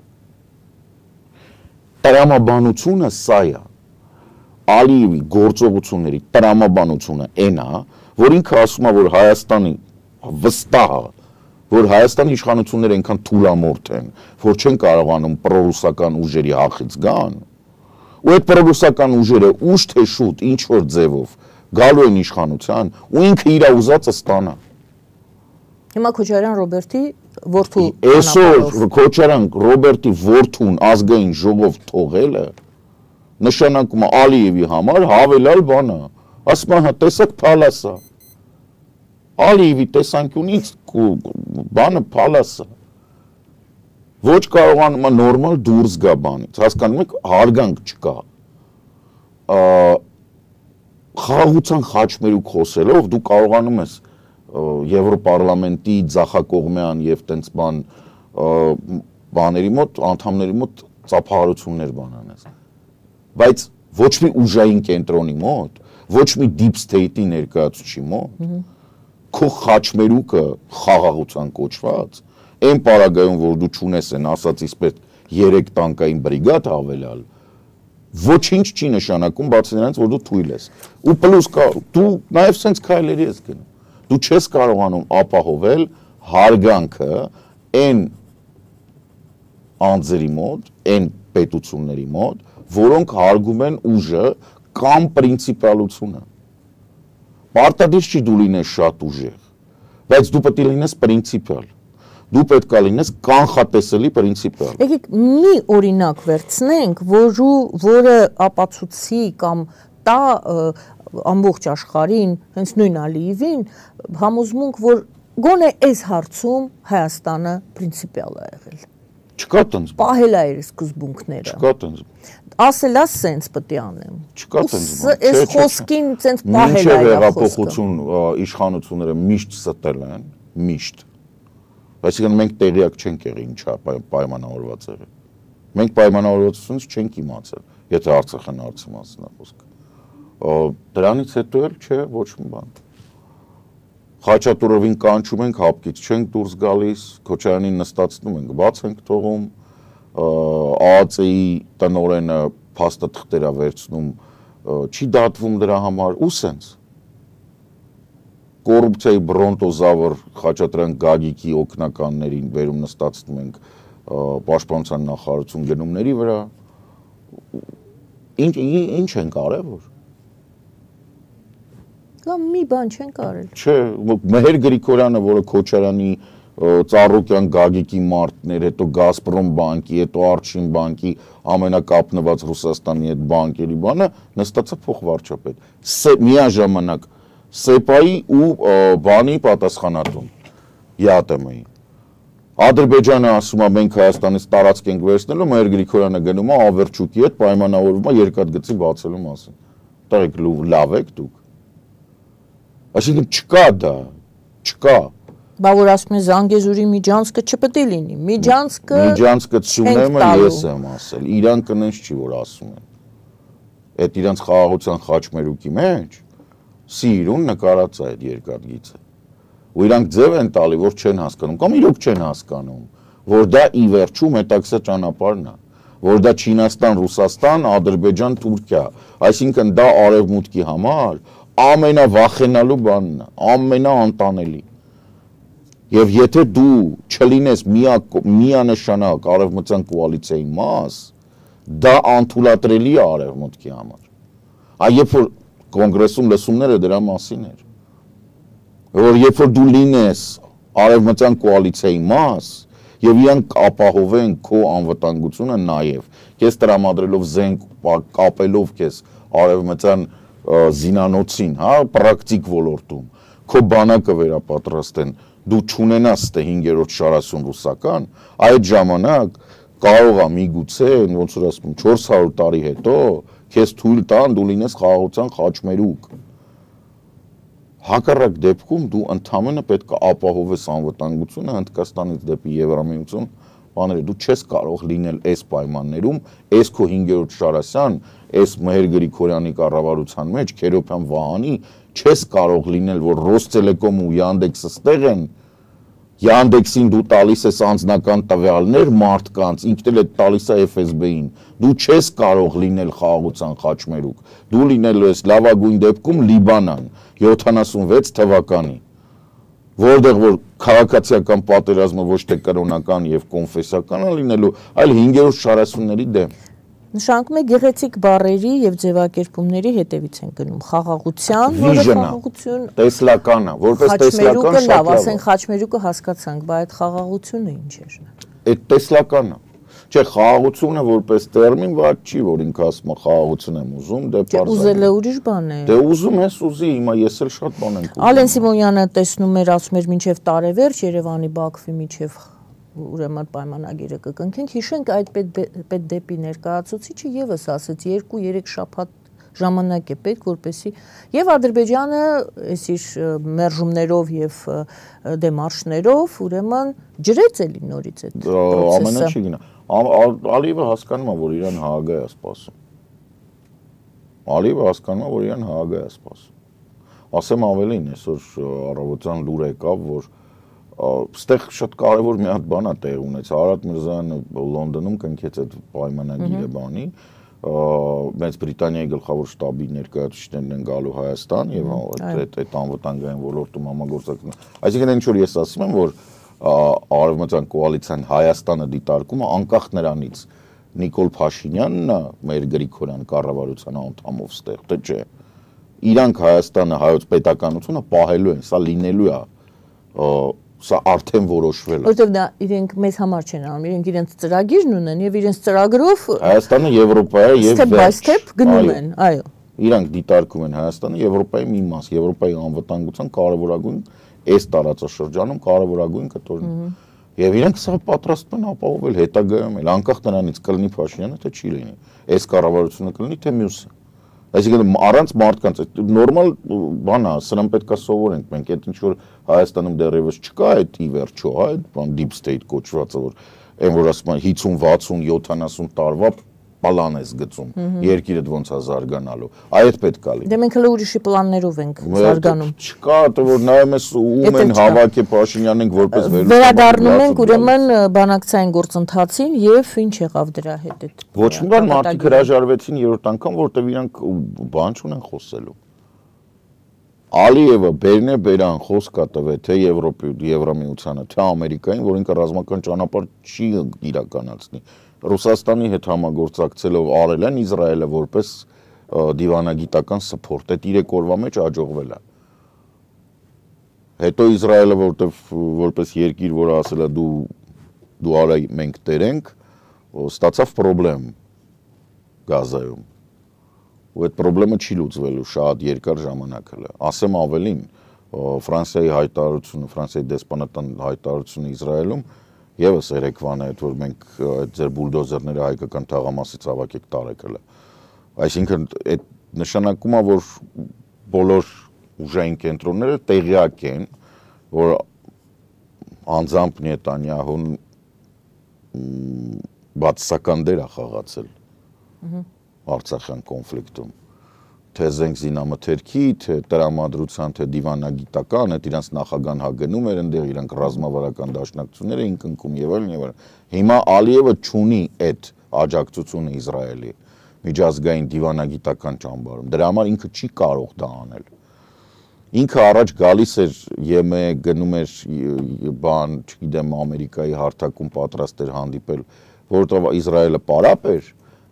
Տրամաբանությունը սա է, Ալիևի գործողությունների տրամաբանությունը այն է, որ ինքը ասում է, որ Հայաստանի վստահ է, որ Հայաստանի իշխանությունները այնքան թուլամորթ են, որ չեն կարողանում պրոռուսական ուժերի հախից գան, ու այդ պրոռուսական ուժերը ուշ թե շուտ ինչ-որ ձևով գալու են իշխանության, ու ինքը իր ուզածը ստանա։ Հիմա Քոչարյան Ռոբերտի որդու Այսօր Քոչարյան Ռոբերտի որդուն ազգային ժողով թողելը նշանակում է Ալիևի համար հավելյալ բան է։ Ասում է, հա տեսեք փալաս է։ Ալիևի տեսանկյունից բանը փալաս է։ Ոչ կարողանում է նորմալ դուրս գա բանից։ Հասկանում եք, հարգանք չկա։ Խաղաղության խաչմերուկ խոսելով դու կարողանում ես Եվրոպարլամենտի ձախակողմյան եւ տենց բաների մոտ, անդամների մոտ ծափահարություններ բանանես։ Բայց ոչ մի ուժային կենտրոնի մոտ, ոչ մի deep state-ի ներկայացուցիչի մոտ, քո խաչմերուկը խաղաղության կոչված, այն պարագայում, որ դու չունես են ասածից պետք 3 տանկային բրիգադ հավելյալ, ոչինչ չի նշանակում, բացի նրանից, որ դու թույլ ես։ Ու պլյուս դու նաեւ sense քայլերի ես գնում։ Դու չես կարողանում ապահովել հարգանքը այն անձերի մոտ, այն պետությունների մոտ, որոնք հարգում են ուժը կամ պրինցիպալությունը։ Պարտադիր չի դու լինես շատ ուժեղ, բայց դու պետք է լինես պրինցիպալ։ Դու պետք է լինես կանխատեսելի պրինցիպալ։ Եկեք մի օրինակ վերցնենք, որը ապացուցի կամ տա ամբողջ աշխարհին, հենց նույն Ալիևին, համոզմունք, որ գոնե այս հարցում Հայաստանը պրինցիպիալ է եղել։ Չկա տենց։ Պահել է իր սկզբունքները։ Չկա տենց։ Ասելա սենց պետք է անեմ։ Չկա տենց։ Այս խոսքին սենց պահել է իր խոսքը։ Հեղափոխություն իշխանությունները միշտ ստել են, միշտ։ Այսինքն մենք տեղյակ չենք եղել ինչա պայմանավորված եղել։ Մենք պայմանավորվածությունից չենք իմացել, եթե Արցախն հարցի մասին է խոսքը։ Դրանից հետո էլ չէ ոչ մի բան։ Խաչատուրովին կանչում ենք, հապկից չենք դուրս գալիս, Քոչարյանին նստացնում ենք, բաց ենք թողում, ԱԱՑ-ի տնօրենը փաստաթղթեր է վերցնում, չի դատվում դրա համար, ու սենց։ Կոռուպցիայի բրոնտոզավր Խաչատրյան Գագիկի օգնականներին վերում նստացնում ենք պաշտպանության նախարարություն գնումների վրա։ Ինչ են կարևոր։ Կամ մի բան չեն կարել։ Չէ, Մեհեր Գրիգորյանը, որը Քոչարյանի Ծառուկյան Գագիկի մարտներ, հետո Գազպրոմ բանկի, հետո Արչին բանկի ամենակապնված Ռուսաստանի այդ բանկերի բանը, նստածա փոխվարչապետ։ Միաժամանակ ՍԵՊԱ-ի ու բանի պատասխանատուն ԵԱՏՄ-ի։ Ադրբեջանը ասում է մենք Հայաստանից տարածք ենք վերցնելու, Մեհեր Գրիգորյանը գնում է Ավերչուկի հետ պայմանավորվում է երկաթգծի բացելու մասին։ Տղեկ լավ եք դուք։ Այսինքն չկա դա, չկա։ Բա որ ասում են Զանգեզուրի միջանցքը չպետք է լինի։ Միջանցքը Սյունեմը ես եմ ասել, իրան կնենց չի որ ասում են։ Այդ իրանց խաղաղության խաչմերուկի մեջ Սիրուն նկարած է այդ երկաթգիծը։ Ու իրանք ձև են տալի, որ չեն հասկանում, կամ իրոք չեն հասկանում, որ դա ի վերջում հետաքրքիր ճանապարհն է, որ դա Չինաստան, Ռուսաստան, Ադրբեջան, Թուրքիա, այսինքն դա արևմուտքի համար ամենավախենալու բանն է, ամենաանտանելի։ Եվ եթե դու չլինես միանշանակ արևմտյան կոալիցիայի մաս, դա անթույլատրելի է արևմուտքի համար։ Այ երբ որ կոնգրեսում լսումները դրա մասին էր, որ երբ որ դու լինես արևմտյան կոալիցիայի մաս եւ իրանք ապահովեն քո անվտանգությունը նաեւ, քեզ տրամադրելով զենք, կապելով քեզ արևմտյան զինանոցին, հա, պրակտիկ ոլորտում, քո բանակը վերապատրաստեն, դու չունենաս ստե 5-րդ շարասուն ռուսական, այդ ժամանակ կարող է միգուցե, ոնց որ ասում 400 տարի հետո քեզ թույլ տան դու լինես խաղաղության խաչմերուկ։ Հակառակ դեպքում դու ընդհանրապես պետք է ապահովես անվտանգությունը Հնդկաստանից դեպի Եվրամիություն, բաները դու չես կարող լինել այս պայմաններում, այս քո 5-րդ շարասյան, այս Մեհեր Գրիգորյանի կառավարության մեջ Քերոբյան Վահանի չես կարող լինել, որ Ռոստելեկոմ ու Յանդեքսը ստեղ են, Յանդեքսին դու տալիս ես անձնական տվյալներ մարդկանց, ինքն էլ է տալիս է FSB-ին, դու չես կարող լինել խաղաղության խաչմերուկ, դու լինելու ես լավագույն դեպքում Լիբանան 76 թվականի, որտեղ որ քաղաքացիական պատերազմը ոչ թե կրոնական եւ կոնֆեսիական է լինելու, այլ 5-րդ շարասունների դեմ։ Նշանակում է գեղեցիկ բառերի եւ ձևակերպումների հետևից են գնում խաղաղության, որը խաղաղություն տեսլականը, որպես տեսլական շատ լավ, ասենք խաչմերուկը հասկացանք, բայց այդ խաղաղությունը ինչ էր։ Այդ տեսլականը։ Չէ, խաղաղությունը որպես տերմին ված չի, որ ինքը ասում է խաղաղություն եմ ուզում, դե բարձր։ Ուզելը ուրիշ բան է։ Դե ուզում ես ուզի, հիմա ես էլ շատ բան եմ ուզում։ Ալեն Սիմոնյանը տեսնում էր, ասում էր մինչև տարեվերջ Երևանի Բաքվի միջև ուրեմն պայմանագիրը կկնքենք, հիշենք այդ պետդեպի ներկայացուցիչը եւս ասաց 2-3 շաբաթ ժամանակ է պետք, որպեսզի եւ Ադրբեջանը այս իր մերժումներով եւ դեմարշներով ուրեմն ջրեց էլի նորից այդ պրոցեսը։ Ամենը չի գնա։ Ալիևը հասկանում է, որ իրան Հաագա է սպասում։ Ալիևը հասկանում է, որ իրան Հաագա է սպասում։ Ասեմ ավելին, այսօր առավոտյան լուր եկավ, որ ստեղ շատ կարևոր մի հատ բան է տեղ ունեցել։ Արադ Միրզոյանը Լոնդոնում կնքեց այդ պայմանագիրը բանի, Մեծ Բրիտանիայի գլխավոր շտաբի ներկայացուցիչներն են գալու Հայաստան եւ այդ անվտանգային ոլորտում համագործակցություն։ Այսինքն ինչ որ ես ասում եմ, որ արևմտյան կոալիցիան Հայաստանը դիտարկում է անկախ նրանից Նիկոլ Փաշինյանն է մեր Գրիգորյան կառավարության անդամով ստեղ, թե չէ։ Իրանք Հայաստանը հայոց պետականությունը պահելու են, սա լինելու է սա արդեն որոշվել է։ Որտեվ դա իրենք մեզ համար չեն անում, իրենք իրենց ծրագիրն ունեն եւ իրենց ծրագրով Հայաստանը Եվրոպայա եւ step by step գնում են, այո։ Իրանք դիտարկում են Հայաստանը Եվրոպայի մի մաս, Եվրոպայի անվտանգության կարևորագույն այս տարածաշրջանում կարևորագույն կտորն։ Եվ իրենք սա պատրաստ են ապահովել հետագայում էլ, անկախ նրանից կլինի Փաշինյանը թե չի լինի։ Այս կառավարությունը կլինի թե մյուսը։ Այսինքն առանց մարդկանց նորմալ բան է, սրան պետք է սովորենք մենք, այդ ինչ որ Հայաստանում դեռևս չկա այդ ի վերջո, հա, այդ բան deep state կոչվածը, որ այն որ ասում են 50, 60, 70 տարվա պլան ես գծում, երկիրը ոնց է զարգանալու, այդ պետք է լինի։ Դե մենք հələ ուրիշի պլաններով ենք զարգանում։ Չկա, թե որ նայում ես ում են հավաքի Փաշինյանն ենք որպես վերադառնում ենք ուրեմն բանակցային գործընթացին եւ ինչ եղավ դրա հետ այդ։ Ոչ մի բան մարդիկ հրաժարվեցին երրորդ անգամ, որտեվ իրանք բան չունեն խոսելու։ Ալիևը բերան խոսք տվել թե Եվրամիությանը, թե Ամերիկային, որ ինքը ռազմական ճանապարհ չի իրականացնի։ Ռուսաստանի հետ համագործակցելով արել են Իսրայելը որպես դիվանագիտական սփորտ, այդ 3 օրվա մեջ աջողվել է։ Հետո Իսրայելը որպես երկիր, որը ասել է դու արա մենք տերենք, ստացավ խնդրեմ Գազայում։ Ու այդ խնդրեմը չի լուծվելու շատ երկար ժամանակ հələ։ Ասեմ ավելին, Ֆրանսիայի հայտարարությունը, Ֆրանսիայի դեսպանատան հայտարարությունը Իսրայելում եւս երեկվան է, որ մենք այդ ձեր բուլդոզերները հայկական թաղամասից հավաքեք տարեք հələ։ Այսինքն այդ նշանակում է, որ բոլոր ուժային կենտրոնները տեղյակ են, որ անձամբ Նետանյահուն բացասական դեր է խաղացել Արցախյան կոնֆլիկտում, թե զենք զինամթերքի, թե տրամադրության, թե դիվանագիտական, այդ իրանց նախագահան հագնում էր այնտեղ, իրանք ռազմավարական դաշնակցություններ էին կնքում եւ այլն եւ այլն։ Հիմա Ալիևը չունի այդ աջակցությունը Իսրայելի միջազգային դիվանագիտական ճամբարում։ Դրա համար ինքը չի կարող դա անել։ Ինքը առաջ գալիս էր ԵՄ գնում էր բան, չգիտեմ, Ամերիկայի հարթակում պատրաստ էր հանդիպել, որովհետեւ Իսրայելը պարապ էր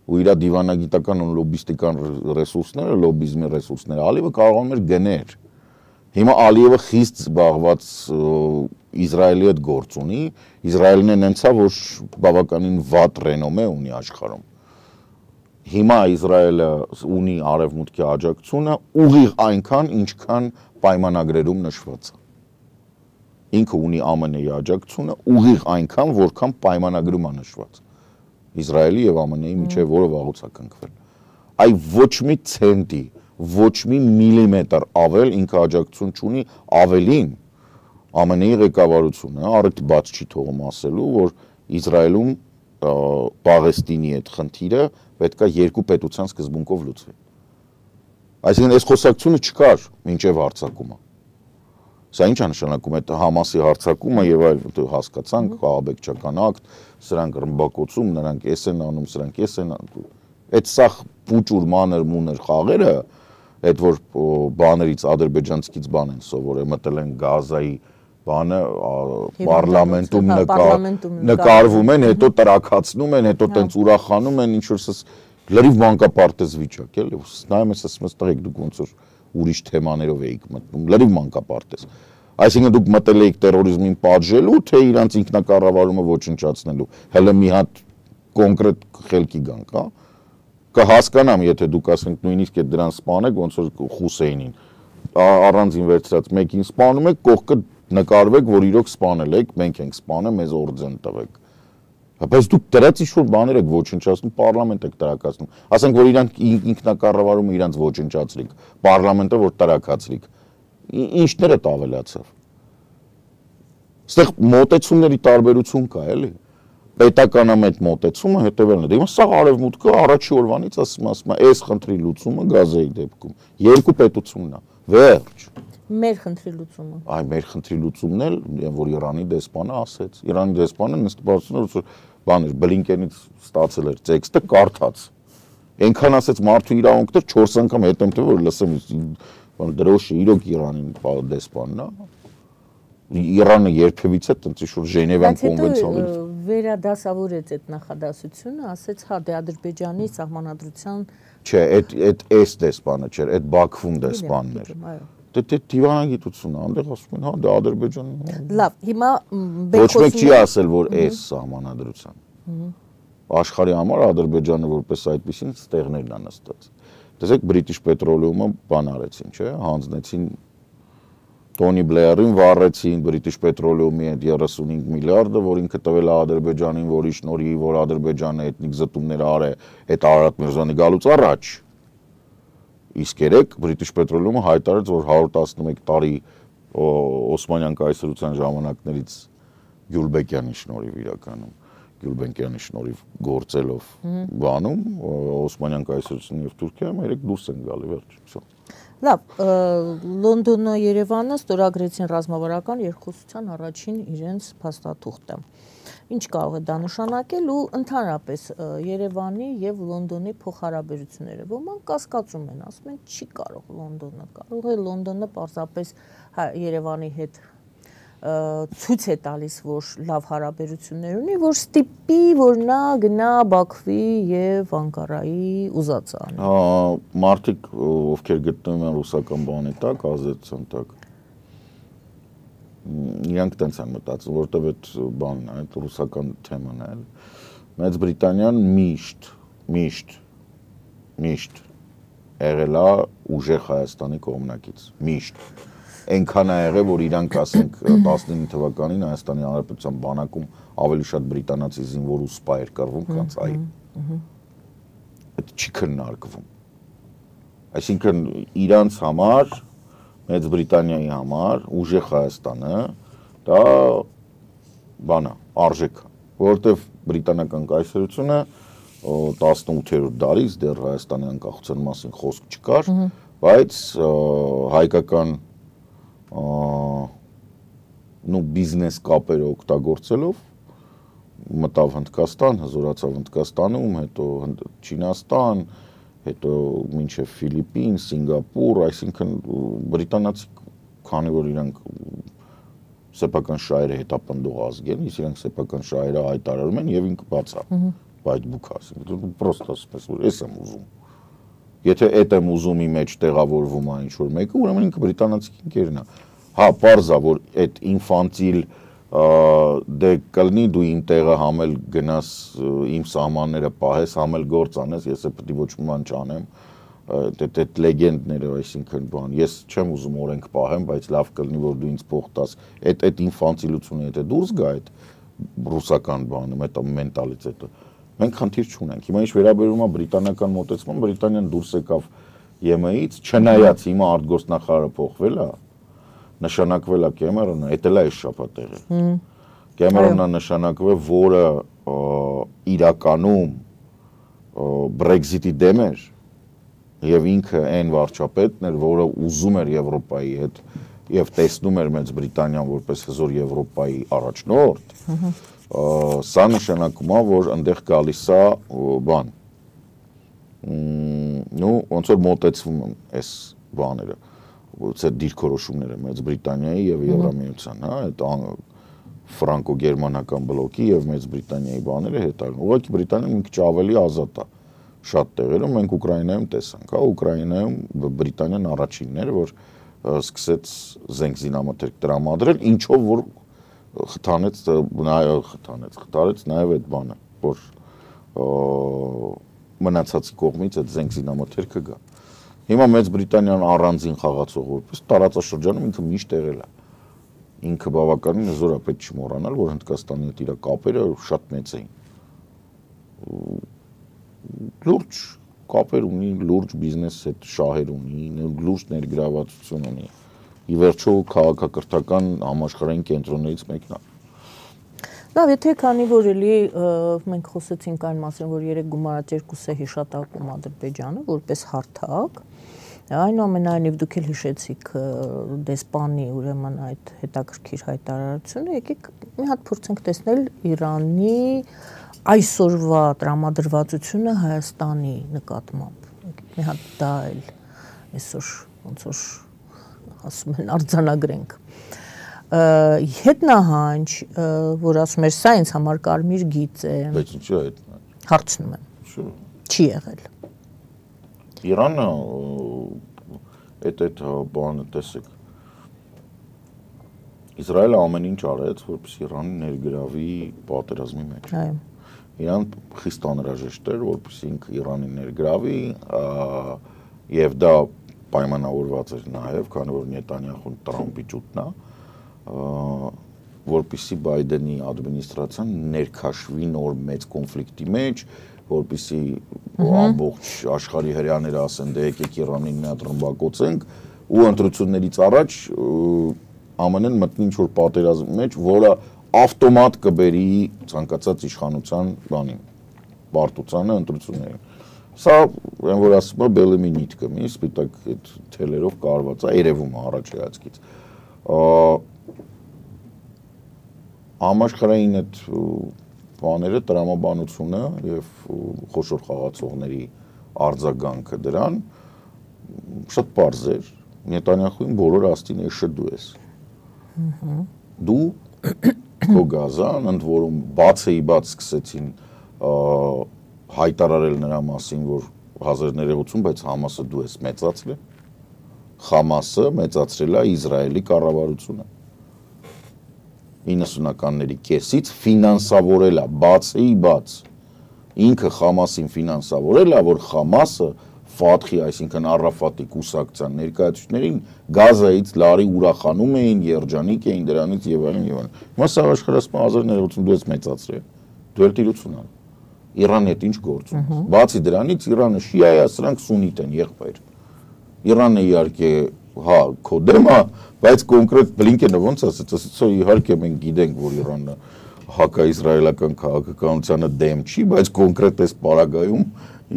ու իր դիվանագիտական ու լոբիստիկան ռեսուրսները, լոբիզմի ռեսուրսները Ալիևը կարողանում էր գնել։ Հիմա Ալիևը խիստ զբաղված Իսրայելի հետ գործ ունի, Իսրայելն է նենցա, որ բավականին վատ ռենոմե ունի աշխարհում։ Հիմա Իսրայելը ունի արևմուտքի աջակցությունը ուղիղ այնքան, ինչքան պայմանագրերում նշված է։ Ինքը ունի ԱՄՆ-ի աջակցությունը ուղիղ այնքան, որքան պայմանագրում է նշված։ Իսրայելի եւ ԱՄՆ-ի միջեւ որը վաղուց է կնքվել։ Այ ոչ մի ցենտի, ոչ մի միլիմետր ավել ինքը աջակցություն չունի, ավելին ԱՄՆ-ի ղեկավարությունը առիթ բաց չի թողում ասելու, որ Իսրայելում Պաղեստինի այդ խնդիրը պետք է երկու պետության սկզբունքով լուծվի։ Այսինքն այս խոսակցությունը չկար մինչև հարձակումը։ Սա ինչ է նշանակում, այդ Համասի հարձակումը եւ այլ հասկացանք, ահաբեկչական ակտ, սրանք ռմբակոծում, նրանք էս են անում, սրանք էս են անում։ Այդ սա փուճուր մանր խաղերը, այդ որ բաներից ադրբեջանցիքից բան են սովորել, մտել են Գազայի բանը պարլամենտում նկարվում են, հետո տրաքացնում են, հետո տենց ուրախանում են, ինչ որ լրիվ մանկապարտեզ վիճակ, էլի, նայում ես ասում ես տղեկ դուք ոնց որ ուրիշ թեմաներով էիք մտնում, լրիվ մանկապարտեզ։ Այսինքն դուք մտել էիք տերորիզմին պատժելու, թե իրանց ինքնակառավարումը ոչնչացնելու։ Հələ մի հատ կոնկրետ խելքի գանք, հա։ Կհասկանամ, եթե դուք ասենք նույնիսկ այդ դրան սպանեք, ոնց որ Խուսեյնին առանձին վերցրած մեկին սպանում եք, կողքը նկարվեք, որ իրոք սպանել եք, մենք ենք սպանել, մեզ օրդեն տվեք։ Բայց դուք դրած ինչ-որ բաներ եք ոչնչացնում, պարլամենտ եք տրակացնում։ Ասենք, որ իրանք ինքնակառավարումը իրանց ոչնչացրիք, պարլամենտը որ տրակացրիք։ Ինչներդ ավելացավ։ Այստեղ մոտեցումների տարբերություն կա, էլի։ Պետականամետ մոտեցումը հետևելն է։ Հիմա սա արևմուտքը առաջի օրվանից ասում է, այս խնդրի լուծումը Գազայի դեպքում երկու պետությունն է։ Վերջ։ Մեր խնդրի լուծումը։ Այ մեր խնդրի լուծումն էլ, որ Իրանի դեսպանը ասեց։ Իրանի դեսպանը նստվածությունը որ բան էր, Բլինկենից ստացել էր տեքստը, կարդաց։ Այնքան ասեց մարդու իրավունքներ 4 անգամ հետեմ թե որ լսեմ, դրոշը իրոք Իրանին դեսպանն է։ Իրանը երբևիցե տենց ինչ-որ Ժենևան կոնվենցիաներից վերադասավորեց այդ նախադասությունը, ասեց, հա, դե Ադրբեջանի սահմանադրության չէ, այդ դեսպանը չէր, այդ Բաքվում դեսպանն էր։ Դե դիվանագիտությունն է, այնտեղ ասում են, հա, դա Ադրբեջանի։ Լավ, հիմա ոչ մեկ չի ասել, որ այս սահմանադրության։ Աշխարհի համար Ադրբեջանը որպես այդպեսին ստեղներն է նստած։ Տեսեք, British Petroleum-ը բան արեցին, չէ, հանձնեցին Տոնի Բլեյերին վառեցին British Petroleum-ի այդ 35 միլիարդը, որ ինքը տվել է Ադրբեջանին, որի շնորհիվ որ Ադրբեջանը էթնիկ զտումներ արե այդ Արարատ Միրզոյանի գալուց առաջ։ Իսկ երեք British Petroleum-ը հայտարարեց, որ 111 տարի Օսմանյան կայսրության ժամանակներից Գյուլբեկյանի շնորհիվ իրականում, Գյուլբեկյանի շնորհիվ գործելով բանում, Օսմանյան կայսրությունն եւ Թուրքիայում երեք դուրս են գալի վերջ։ Լավ, Լոնդոնը Երևանը ստորագրեցին ռազմավարական երկխոսության առաջին իրենց փաստաթուղթը։ Ինչ կարող է դա նշանակել ու ընդհանրապես Երևանի եւ Լոնդոնի փոխհարաբերությունները։ Ոմանք կասկածում են, ասում են չի կարող Լոնդոնը, կարող է Լոնդոնը պարզապես Երևանի հետ ցույց է տալիս, որ լավ հարաբերություններ ունի, որ ստիպի, որ նա գնա Բաքվի եւ Անկարայի ուզածը անի։ Մարդիկ ովքեր գտնվում են ռուսական բանի տակ, ազդեցության տակ, իրանք տենց են մտածում, որտեվ այդ բանն է, այդ ռուսական թեման է։ Մեծ Բրիտանիան միշտ եղել է ուժեղ Հայաստանի կողմնակից, միշտ։ Այնքան է եղել, որ իրանք ասենք 19 թվականին Հայաստանի Հանրապետության բանակում ավելի շատ բրիտանացի զինվոր ու սպա էր կռվում, քան այ։ Այդ չի քննարկվում։ Այսինքն իրանց համար, Մեծ Բրիտանիայի համար ուժեղ Հայաստանը դա բան է, արժեք է, որովհետև բրիտանական կայսրությունը 18-րդ դարից դեռ Հայաստանի անկախության մասին խոսք չկար, բայց հայկական բիզնես կապերը օգտագործելով մտավ Հնդկաստան, հզորացավ Հնդկաստանում, հետո Չինաստան, հետո մինչև Ֆիլիպին, Սինգապուր, այսինքն բրիտանացի քանի որ իրանք սեփական շահերը հետապնդող ազգ են, իսկ իրանք սեփական շահերը հայտարարում են եւ ինքը բացա այդ բուքասը, պրոստը ասես որ ես եմ ուզում։ Եթե այդ եմ ուզումի մեջ տեղավորվում է ինչ-որ մեկը, ուրեմն ինքը բրիտանացի ինքերն է։ Հա, պարզ է, որ այդ ինֆանտիլ դե կլինի դու իմ տեղը համել գնաս իմ սահմանները պահես, համել գործ անես, ես պետք է ոչ մի բան չանեմ, այդ լեգենդները, այսինքն բան, ես չեմ ուզում օրենք պահեմ, բայց լավ կլինի որ դու ինձ փող տաս, այդ ինֆանտիլությունը եթե դուրս գա այդ ռուսական բանը, այդ մենտալիտետը, մենք խնդիր չունենք։ Հիմա ինչ վերաբերում է բրիտանական մոտեցման, Բրիտանիան դուրս եկավ ԵՄ-ից, չնայած հիմա արտգործնախարարը փոխվել է, նշանակվել է Կեմերոնը, դա էլ է շփատեղը։ Կեմերոնը նշանակվել, որը իրականում Brexit-ի դեմ էր, եւ ինքը այն վարչապետն էր, որը ուզում էր Եվրոպայի հետ եւ տեսնում էր Մեծ Բրիտանիան որպես հզոր Եվրոպայի առաջնորդ, սա նշանակում է, որ այնտեղ գալիս է բան, ոնց որ մոտեցվում են այս բաները, այդ դիրքորոշումները Մեծ Բրիտանիայի եւ Եվրամիության, հա, այդ ֆրանկո-գերմանական բլոկի եւ Մեծ Բրիտանիայի բաները հետագան։ Ուղղակի Բրիտանիան մի քիչ ավելի ազատ է շատ տեղերում, մենք Ուկրաինայում տեսանք, հա, Ուկրաինայում Բրիտանիան առաջինն էր, որ սկսեց զենք զինամթերք տրամադրել, ինչով որ խթանեց նաև այդ բանը, որ մնացածի կողմից այդ զենք զինամթերքը գա։ Հիմա Մեծ Բրիտանիան առանձին խաղացող որպես տարածաշրջանում ինքը միշտ եղել է։ Ինքը բավականին հզոր է, պետք չի մոռանալ, որ Հնդկաստանի հետ իր կապերը շատ մեծ էին։ Լուրջ կապեր ունի, լուրջ բիզնես հետ շահեր ունի, լուրջ ներգրավվածություն ունի։ Ի վերջո քաղաքակրթական համաշխարհային կենտրոններից մեկն է։ Լավ, եթե քանի որ էլի մենք խոսեցինք այն մասին, որ 3 գումարած 2 հիշատակում Ադրբեջանը որպես հարթակ, այնուամենայնիվ դուք էլ հիշեցիք դեսպանի ուրեմն այդ հետաքրքիր հայտարարությունը, եկեք մի հատ փորձենք տեսնել Իրանի այսօրվա տրամադրվածությունը Հայաստանի նկատմամբ։ Մի հատ դա էլ այսօր ոնց որ ասում են արձանագրենք։ Հետնահանջ, որ ասում էր սա ինձ համար կարմիր գիծ է։ Բայց ինչու է հետնահանջ։ Հարցնում եմ։ Չի եղել։ Իրանը այդ բանը տեսեք։ Իսրայելը ամեն ինչ արեց, որպեսզի Իրանը ներգրավի պատերազմի մեջ։ Այո։ Իրան խիստ անհրաժեշտ էր, որպեսզի ինքը Իրանի ներգրավի, եւ դա պայմանավորված էր նաեւ, քանի որ Նետանյախուն Տրամփի ճուտն է, որպեսզի Բայդենի ադմինիստրացիան ներքաշվի նոր մեծ կոնֆլիկտի մեջ, որպեսզի ամբողջ աշխարհի հրեաները ասեն, դե եկեք Իրանին մի հատ ռմբակոծենք, ու ընտրություններից առաջ ԱՄՆ-ն մտնի ինչ-որ պատերազմի մեջ, որը ավտոմատ կբերի ցանկացած իշխանության բանին, պարտությանը, ընտրություններին։ Սա, այն որ ասում է, բելեմի նիտկը, մի սպիտակ այդ թելերով կարված է, երևում է առաջ հայացքից։ Համաշխարհային այդ բաները, տրամաբանությունը եւ խոշոր խաղացողների արձագանքը դրան շատ պարզ էր։ Նետանյախուին բոլորը ասին էշը դու ես։ Դու քո գազան, ընդ որում բաց սկսեցին հայտարարել նրա մասին, որ 1980, բայց Համասը դու ես մեծացրել։ Համասը մեծացրել է Իսրայելի կառավարությունը։ 90-ականների կեսից ֆինանսավորել է բաց ինքը Խամասին ֆինանսավորել է, որ Խամասը Ֆաթխի, այսինքն Արաֆատի կուսակցության ներկայացուցիչներին Գազայից լարի ուրախանում էին, երջանիկ էին դրանից եւ այլն եւ այլն։ Հիմա սա աշխարհասպան 1982-ից մեծացրել։ Դու էլ տիրություն ալ։ Իրանի հետ ինչ գործ ունի։ Բացի դրանից Իրանը շիա է, սրանք սուննիտ են, եղբայր։ Իրանը իհարկե, հա, քո դեմ է, բայց կոնկրետ Բլինկենը ոնց ասեց, ասեցի իհարկե մենք գիտենք, որ Իրանը հակաիսրայելական քաղաքականությանը դեմ չի, բայց կոնկրետ այս պարագայում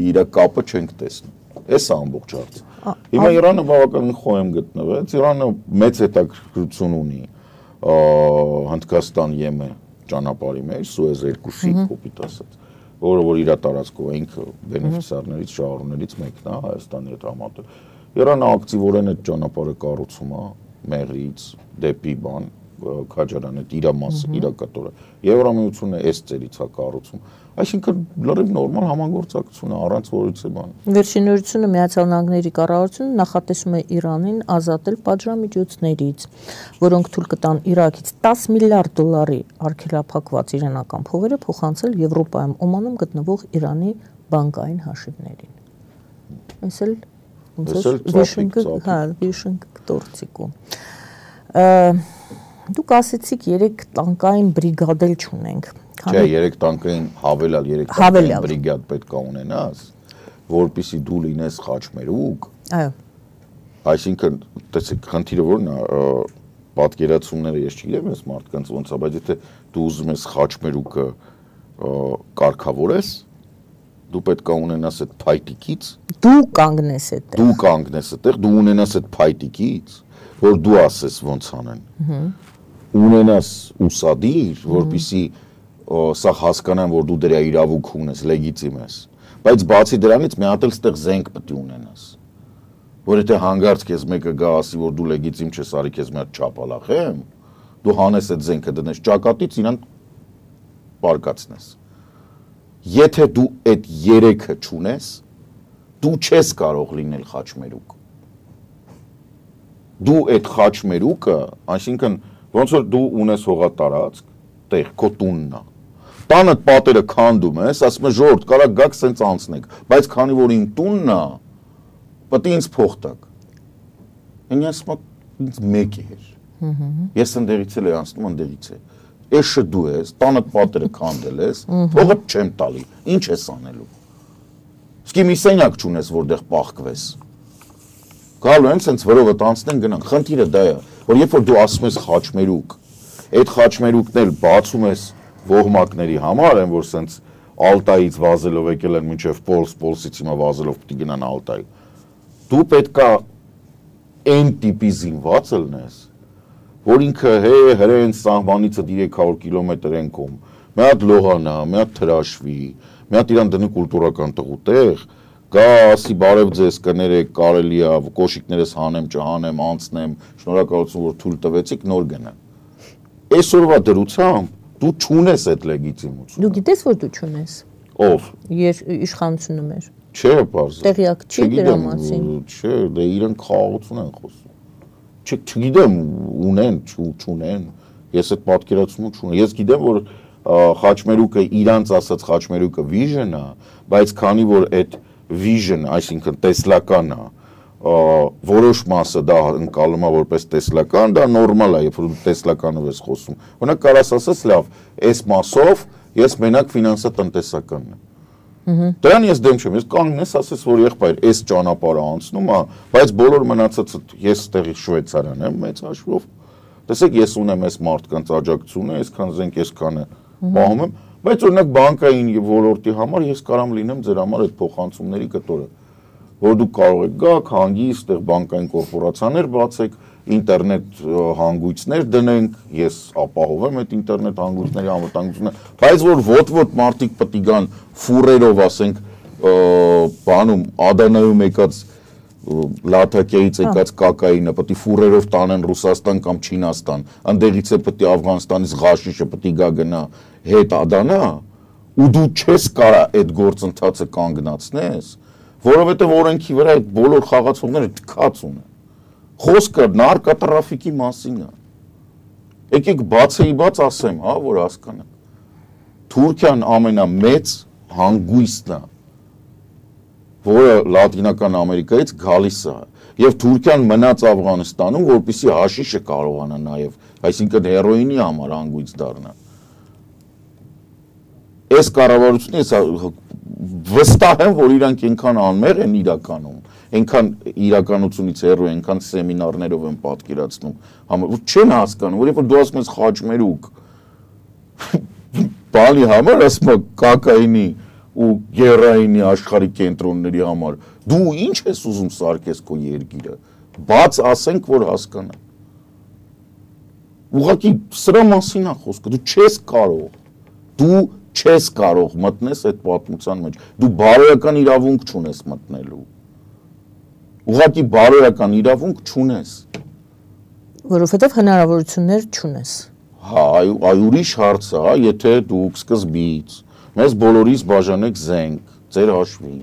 իր կապը չենք տեսնում։ Էս է ամբողջ հարցը։ Հիմա Իրանը բավականին խոհեմ գտնվեց, Իրանը մեծ հետաքրքրություն ունի Հնդկաստան-Եմեն ճանապարհի մեջ, Սուեզ 2-ի կոպիտ ասած, որը որ իր տարածքով ինքը բենեֆիցիարներից, շահառուներից մեկն է Հայաստանի հետ համատեղ։ Իրանը ակտիվորեն այդ ճանապարհը կառուցում է Մեղրից դեպի բան Քաջարան այդ իր մասը, իր կտորը։ Եվրամիությունը այս ծերից է կառուցում։ Այսինքն լրիվ նորմալ համագործակցություն է, առանց որևիցե բան։ Վերջին նորությունը Միացյալ Նահանգների կառավարությունը նախատեսում է Իրանին ազատել պատժամիջոցներից, որոնք թույլ կտան Իրաքից 10 միլիարդ դոլարի արգելափակված իրանական փողերը փոխանցել Եվրոպայում Օմանում գտնվող Իրանի բանկային հաշիվներին։ Այս էլ վիշնգ կտորցիկու։ Դուք ասեցիք 3 տանկային բրիգադ էլ չունենք։ Չէ, 3 տանկային հավելալ 3 տանկային բրիգադ պետք է ունենաս, որպեսզի դու լինես խաչմերուկ։ Այո։ Այսինքն, տեսեք, խնդիրը որն է, պատկերացումները ես չգիտեմ, ես մարդկանց ոնց է, բայց եթե դու ուզում ես խաչմերուկը կարգավորես, դու պետք է ունենաս այդ փայտիկից, դու կանգնես այդտեղ։ Դու կանգնես այդտեղ, դու ունենաս այդ փայտիկից, որ դու ասես ոնց անեն։ Ունենաս ուսադիր, որպեսզի սա հասկանան, որ դու դրա իրավունք ունես, լեգիտիմ ես։ Բայց բացի դրանից մի հատ էլ ստեղ զենք պետք է ունենաս։ Որ եթե հանգարց քեզ մեկը գա ասի, որ դու լեգիտիմ չես, արի քեզ մի հատ չապալախեմ, դու հանես այդ զենքը դնես ճակատից, իրան պարկացնես։ Եթե դու այդ 3-ը չունես, դու չես կարող լինել խաչմերուկ։ Դու այդ խաչմերուկը, այսինքն ոնց որ դու ունես հողատարածք, տեղ քո տունն է։ Տանդ պատերը քանդում ես, ասում ես ժողովուրդ, կարա գաք սենց անցնեք, բայց քանի որ իմ տունն է, պետք է ինձ փող տաք։ Ինձ ասում է ինձ մեկ էր։ Ես ընդերից էլ անցնում ընդերից է։ Էշը դու ես, տանդ պատերը քանդել ես, փողը չեմ տալի։ Ինչ ես անելու։ Իսկ մի սենյակ չունես, որտեղ պահկվես։ Գալու են սենց վրովը տանցնեն գնան։ Խնդիրը դա է, որ երբ որ դու ասում ես խաչմերուկ, այդ խաչմերուկն էլ բացում ես ոհմակների համար են, որ սենց Ալտայից վազելով եկել են մինչև Պոլսից հիմա վազելով պիտի գնան Ալտայ։ Դու պետքա այն տիպի զինված ելնես, որ ինքը հրեն սահմանից 300 կիլոմետր են կոմ, մի հատ լողանա, մի հատ թրաշվի, մի հատ իրան դնի կուլտուրական տղուտեղ, գա ասի բարև ձեզ կներեք, կարելի է, կոշիկներս հանեմ, չհանեմ, անցնեմ, շնորհակալություն, որ թույլ տվեցիք, նոր գնա։ Այսօրվա դրությամբ դու չունես այդ լեգիտիմություն։ Դու գիտես, որ դու չունես։ Ով։ Իշխանությունը մեր։ Չէ, պարզ։ Տեղյակ չի դրա մասին։ Չէ, դե իրենք խաղաղություն են խոսում։ Չգիտեմ, ունեն, չունեն։ Ես այդ պատկերացումը չունեմ։ Ես գիտեմ, որ խաչմերուկը իրանց ասած խաչմերուկը vision է, բայց քանի որ այդ vision, այսինքն տեսլական է, որոշ մասը դա ընկալում է որպես տեսլական, դա նորմալ է, երբ որ տեսլականով ես խոսում։ Օրինակ կարաս ասես, լավ, այս մասով ես մենակ ֆինանսատնտեսականն եմ։ Դրան ես դեմ չեմ, ես կանգնես ասես, որ եղբայր, այս ճանապարհը անցնում է, բայց բոլոր մնացածը ես տեղի Շվեյցարիան եմ մեծ հաշվով։ Տեսեք, ես ունեմ այս մարդկանց աջակցությունը, այսքան զենք, այսքանը պահում եմ, բայց օրինակ բանկային ոլորտի համար ես կարամ լինեմ ձեր համար այդ փոխանցումների կտորը, որ դուք կարող եք գաք, հանգիստ, այդտեղ բանկային կորպորացիաներ բացեք, ինտերնետ հանգույցներ դնենք, ես ապահովեմ այդ ինտերնետ հանգույցների անվտանգությունը, բայց որ ոտ-ոտ մարդիկ պետք է գան ֆուրերով, ասենք, բանում Ադանայում եկած Լաթակիայից եկած կոկաինը պետք է ֆուրերով տանեն Ռուսաստան կամ Չինաստան, այնտեղից է պետք է Աֆղանստանից ղաշիշը պետք է գա գնա հետ Ադանա, ու դու չես կարա այդ գործընթացը կանգնացնես, որովհետև օրենքի վրա այդ բոլոր խաղացողները թքած ունեն։ Խոսքը նարկոտրաֆիկի մասին է։ Եկեք բացեի բաց ասեմ, հա, որ հասկանաք։ Թուրքիան ամենամեծ հանգույցն է, որը Լատինական Ամերիկայից գալիս է, եւ Թուրքիան մնաց Աֆղանստանում, որպեսզի հաշիշը կարողանա նաեւ, այսինքն հերոինի համար հանգույց դառնա։ Այս կառավարությունը վստահ եմ, որ իրանք այնքան անմեղ են իրականում, այնքան իրականությունից հեռու, այնքան սեմինարներով են պատկերացնում, որ չեն հասկանում, որ երբ որ դու ասում ես խաչմերուկ, բանի համար ասում ես կակայինի ու գերայինի աշխարհի կենտրոնների համար, դու ինչ ես ուզում սարքես քո երկիրը, բաց ասենք, որ հասկանա։ Ուղղակի սրա մասին է խոսքը, դու չես կարող մտնես այդ պատմության մեջ, դու բարոյական իրավունք չունես մտնելու, ուղղակի բարոյական իրավունք չունես, որովհետև հնարավորություններ չունես։ Հա, այ ուրիշ հարց է, եթե դուք սկզբից մեզ բոլորիս բաժանեք զենք, ձեր հաշվին,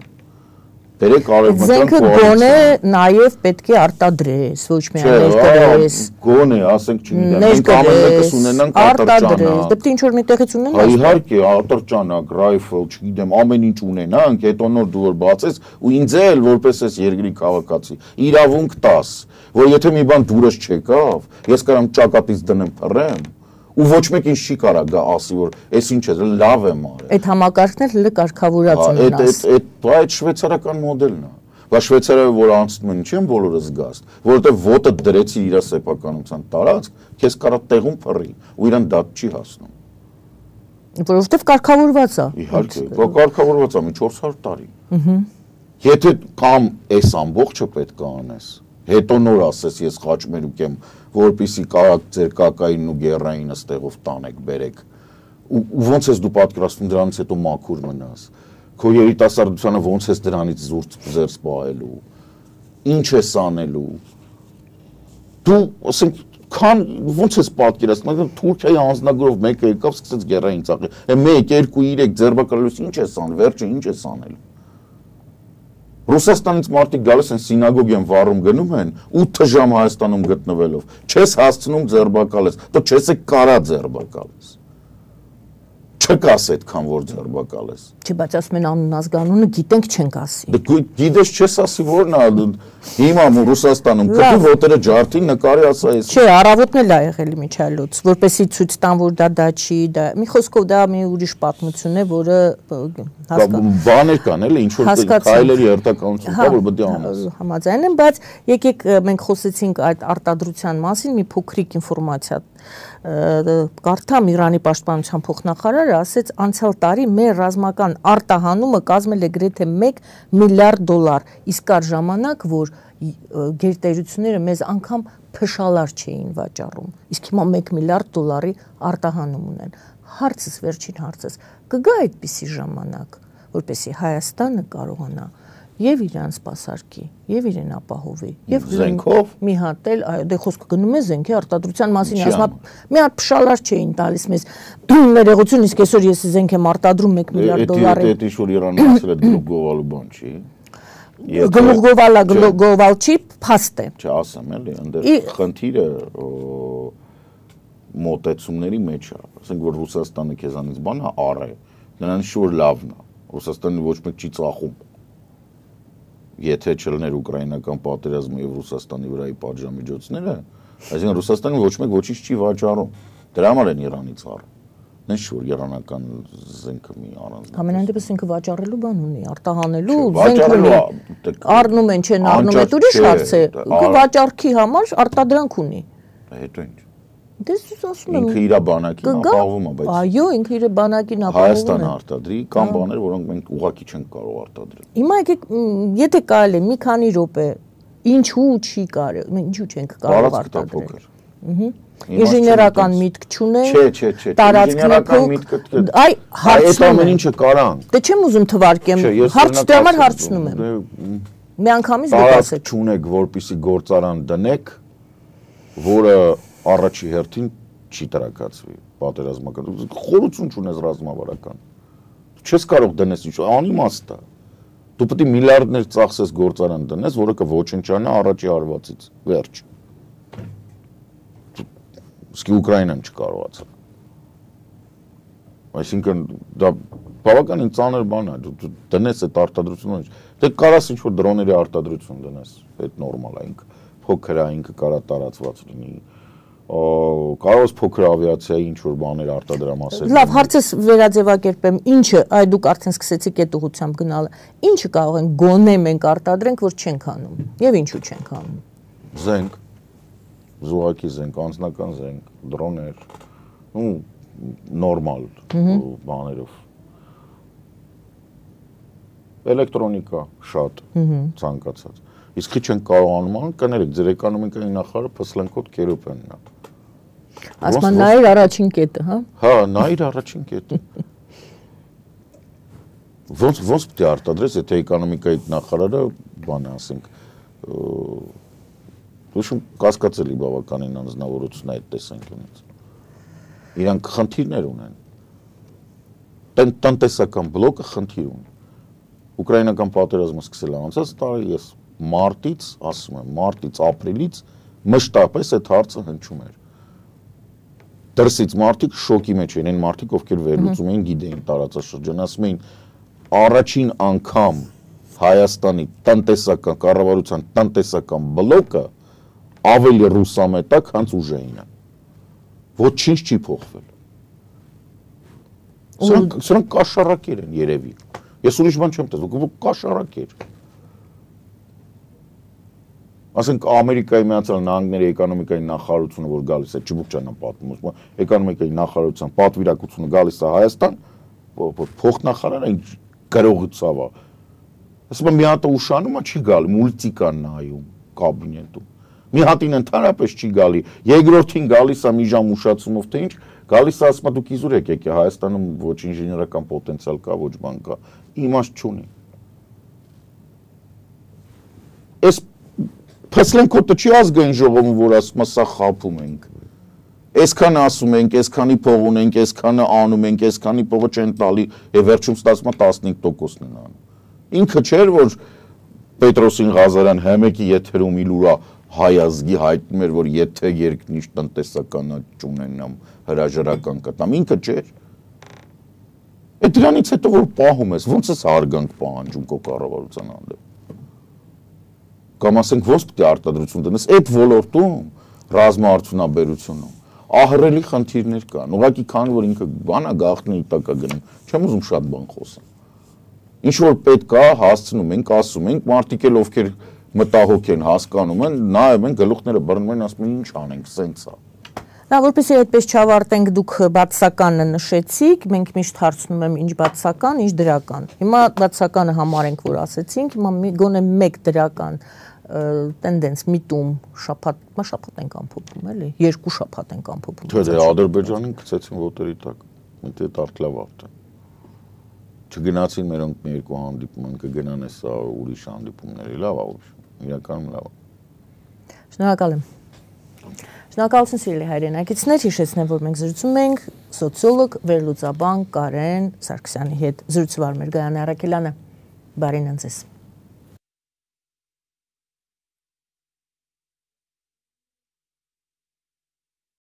բերեք արևմտյան զենքը գոնե նաև պետք է արտադրես, ոչ միայն ներկրես։ Գոնե, ասենք չգիտեմ, մենք ամեն մեկս ունենանք ատրճանակ։ Պետք է ինչ-որ մի տեղից ունենաս։ Հա, իհարկե, ատրճանակ, ռայֆլ, չգիտեմ, ամեն ինչ ունենանք, հետո նոր դու որ բացես, ու ինձ էլ որպես այս երկրի քաղաքացի, իրավունք տաս, որ եթե մի բան դուրս չեկավ, ես կարամ ճակատից դնեմ փռեմ, ու ոչ մեկ ինչ չի կարա գա ասի, որ այս ինչ է, լավ եմ արել։ Այդ համակարգն էլ հենց կարգավորած ունենաս։ Այդ շվեյցարական մոդելն է։ Բայց Շվեյցարիայում որ անցնում են, չեն բոլորը զգաստ, որովհետև ոտը դրեցի իր սեփականության տարածք, քեզ կարա տեղում փռի, ու իրան դա չի հասնում։ Որովհետև կարգավորված է։ Իհարկե, կարգավորված է մի 400 տարի։ Եթե կամ այս ամբողջը պետք է անես, հետո նոր ասես ես խաչմերուկ եմ, որպեսի կարակ ձեր կակայինն ու գերայինը ստեղով տանեք, բերեք, ու ոնց ես դու պատկերացնում դրանից հետո մաքուր մնաս, քո երիտասարդությանը ոնց ես դրանից զերծ պահելու, ինչ ես անելու, դու, ասենք, ոնց ես պատկերացնում, Թուրքիայի անձնագրով մեկը եկավ, սկսեց գերային ծաղի, 1, 2, 3 ձերբակալելուց ինչ ես անել, վերջը ինչ ես անելու։ Ռուսաստանից մարդիկ գալիս են սինագոգ են վառում գնում են 8 ժամ Հայաստանում գտնվելով, չես հասցնում ձերբակալես, դու չես կարա ձերբակալես, չկաս այդքան որ ձերբակալես։ Չի, բայց ասում են անուն ազգանունը գիտենք չենք ասի։ Դու գիտես չես ասի որն է, հիմա Ռուսաստանում կտի ոտերը ջարդին նկարի ասա ես։ Չէ, առավոտն էլ ա եղել միջալուց, որպեսի ցույց տան որ դա չի, դա մի խոսքով դա մի ուրիշ պատմություն է, որը բաներ կան էլի, ինչ որ քայլերի հերթականություն կա, որ պետք է անես։ Համաձայն եմ, բայց եկեք մենք խոսեցինք այդ արտադրության մասին, մի փոքրիկ ինֆորմացիա կարդամ Իրանի պաշտպանության փոխնախարարը ասեց անցյալ տարի մեր ռազմական արտահանումը կազմել է գրեթե 1 միլիարդ դոլար, իսկ կար ժամանակ, որ գերտերությունները մեզ անգամ փշալար չէին վաճառում, իսկ հիմա 1 միլիարդ դոլարի արտահանում ունեն։ Հարցս, վերջին հարցս, կգա այդպիսի ժամանակ, որպեսզի Հայաստանը կարողանա եւ իրան սպասարկի, եւ իրեն ապահովի, եւ զենքով մի հատ էլ, այո, դե խոսքը գնում է զենքի արտադրության մասին, ասում մի հատ փշալար չէին տալիս մեզ ներողություն, իսկ այսօր ես զենք եմ արտադրում 1 միլիարդ դոլարի։ Դա ինչ որ Իրանը ասել է գլուխ գովալու բան չի։ Գլուխ գովալ չի, փաստ է։ Չասեմ էլի, այնտեղ խնդիրը մոտեցումների մեջ է, ասենք որ Ռուսաստանը քեզանից բանը առ է, նրանց շուտ լավն է, Ռուսաստանը ոչ մեկ չի ծախում։ Եթե չլներ ուկրաինական պատերազմը եւ Ռուսաստանի վրայի պատժամիջոցները, այսինքն Ռուսաստանը ոչ մեկ ոչինչ չի վաճառում։ Դրա համար են Իրանից առ։ Նենց որ իրանական զենքը մի առանձին։ Ամենայն դեպս ինքը վաճառելու բան ունի, արտահանելու զենք ունի։ Առնում են, չեն առնում, այդ ուրիշ հարց է։ Ինքը վաճառքի համար արտադրանք ունի։ Հետո ինչ։ Դες ասում եմ ինքը իր բանակին ապահովում է, բայց այո, ինքը իր բանակին ապահովում է։ Հայաստանը արտադրի կամ բաներ, որոնք մենք ուղղակի չենք կարող արտադրել։ Հիմա եկեք, եթե կարելի մի քանի րոպե, ինչու չի կարելի, մենք ինչու չենք կարող արտադրել։ Ինժեներական միտք չունենք։ Չէ, ինժեներական միտքը այ այդ ամեն ինչը կարանք։ Դե չեմ ուզում թվարկեմ, հարց դրա համար հարցնում եմ։ Մի անգամից դուք ասեք։ Չունեք, որպեսի գործարան դնեք, որը առաջի հերթին չի տրակացվի պատերազմական։ Խորություն չունես ռազմավարական։ Չես կարող դնես ինչ, անիմաստ է։ Դու պետք է միլիարդներ ծախսես գործարան դնես, որը կոչնչանա առաջի արվածից։ Վերջ։ Իսկ Ուկրաինան չկարողացավ։ Այսինքն դա բավականին ծանր բան է, դու դնես այդ արտադրությունը, դե կարաս ինչ-որ դրոների արտադրություն դնես, այդ նորմալ է, ինքը փոքր է, ինքը կարա տարածված լինի, կարող ես փոքր ավիացիայի ինչ-որ բաներ արտադրամասեր։ Լավ, հարցս վերաձևակերպեմ, ինչը, այ դուք արդեն սկսեցիք այդ ուղղությամբ գնալ, ինչը կարող են գոնե մենք արտադրենք, որ չենք անում, եւ ինչու չենք անում։ Զենք, զուգակի զենք, անձնական զենք, դրոներ, նորմալ բաներով։ Էլեկտրոնիկա շատ ցանկացած։ Իսկ ինչ են կարողանում անում, կներեք, ձեր էկոնոմիկայի նախարարը փսլենկոտ կերոպեն նա։ Ասում են նայր առաջին կետը, հա։ Հա, նայր առաջին կետը։ Ոնց պետք է արտադրես, եթե էկոնոմիկայի նախարարը բան է, ասենք, դուշում կասկածելի բավականին անձնավորություն այդ տեսանկյունից։ Իրանք խնդիրներ ունեն։ Տնտեսական բլոկը խնդիր ունի։ Ուկրաինական պատերազմը սկսել է անցած տարի, ես մարտից, ասում եմ, մարտից, ապրիլից մշտապես այդ հարցը հնչում էր։ Դրսից մարդիկ շոկի մեջ էին, այն մարդիկ, ովքեր վերլուծում էին, գիտեին տարածաշրջան, ասում էին, առաջին անգամ Հայաստանի տնտեսական կառավարության տնտեսական բլոկը ավելի ռուսամետ է, քան ուժայինը։ Ոչինչ չի փոխվել։ Սրանք կաշառակեր են երևի։ Ես ուրիշ բան չեմ տեսնում, կաշառակեր։ Ասենք Ամերիկայի Միացյալ Նահանգների էկոնոմիկայի նախարարությունը, որ գալիս է, Չբուկչյանն պատմում, էկոնոմիկայի նախարարության պատվիրակությունը գալիս է Հայաստան, փոխնախարարը գրողացավ է։ Ասում եմ, մի հատ ուշանում է, չի գալի, մուլտիկան նայում կաբինետում։ Մի հատին ընդհանրապես չի գալի, երկրորդին գալիս է մի ժամ ուշացումով, թե ինչ, գալիս է ասում է դուք իզուր եկեք, Հայաստանում ոչ ինժեներական պոտենցիալ կա, ոչ բան կա, իմաստ չունի։ Այս Փսլենկոտը չի ազգային ժողովում, որ ասում է սա խաբում ենք։ Այսքանը ասում ենք, այսքանի փող ունենք, այսքանը անում ենք, այսքանի փողը չեն տալի, եւ վերջում ստացվում է 15%-ն են անում։ Ինքը չէր, որ Պետրոսին Ղազարյան Հեմեկի եթերում իլուրա հայ ազգի հայտնում էր, որ եթե երկնիշ տնտեսական չունենամ, հրաժարական կտամ, ինքը չէր։ Այդ դրանից հետո որ պահում ես, ո՞նց ես հարգանք պահանջում քո կառավարության հանդեպ։ Կամ ասենք ոնց պետք է արտադրություն դնես այդ ոլորտում ռազմաարդյունաբերությունում ահռելի խնդիրներ կան ուղղակի քանի որ ինքը բանա գաղտնի տակա գնում չեմ ուզում շատ բան խոսեմ ինչ որ պետք է հասցնում ենք ասում ենք մարդիկ էլ ովքեր մտահոգ են հասկանում են նայում են գլուխները բռնում են ասում են ինչ անենք սենց է Նա որպեսզի այդպես չավարտենք դուք բացականը նշեցիք, մենք միշտ հարցնում եմ ինչ բացական, ինչ դրական։ Հիմա բացականը համարենք, որ ասեցինք, հիմա գոնե մեկ դրական տենդենս միտում շաբաթ ենք ամփոփում, էլի, երկու շաբաթ ենք ամփոփում։ Չէ, Ադրբեջանին գցեցին ոտերի տակ, միտի տարտլավ ավտը։ Չգնացին մերոնք մի երկու հանդիպում, կգնան էսա ուրիշ հանդիպումների, լավ է, իրականում լավ է։ Շնորհակալ եմ։ Շնորհակալություն սիրելի հայրենակիցներ, հիշեցնեմ, որ մենք զրուցում ենք սոցիոլոգ, վերլուծաբան Կարեն Սարգսյանի հետ։ Զրուցվար մեր Գայանե Առաքելյանը։ Բարին ընձեզ։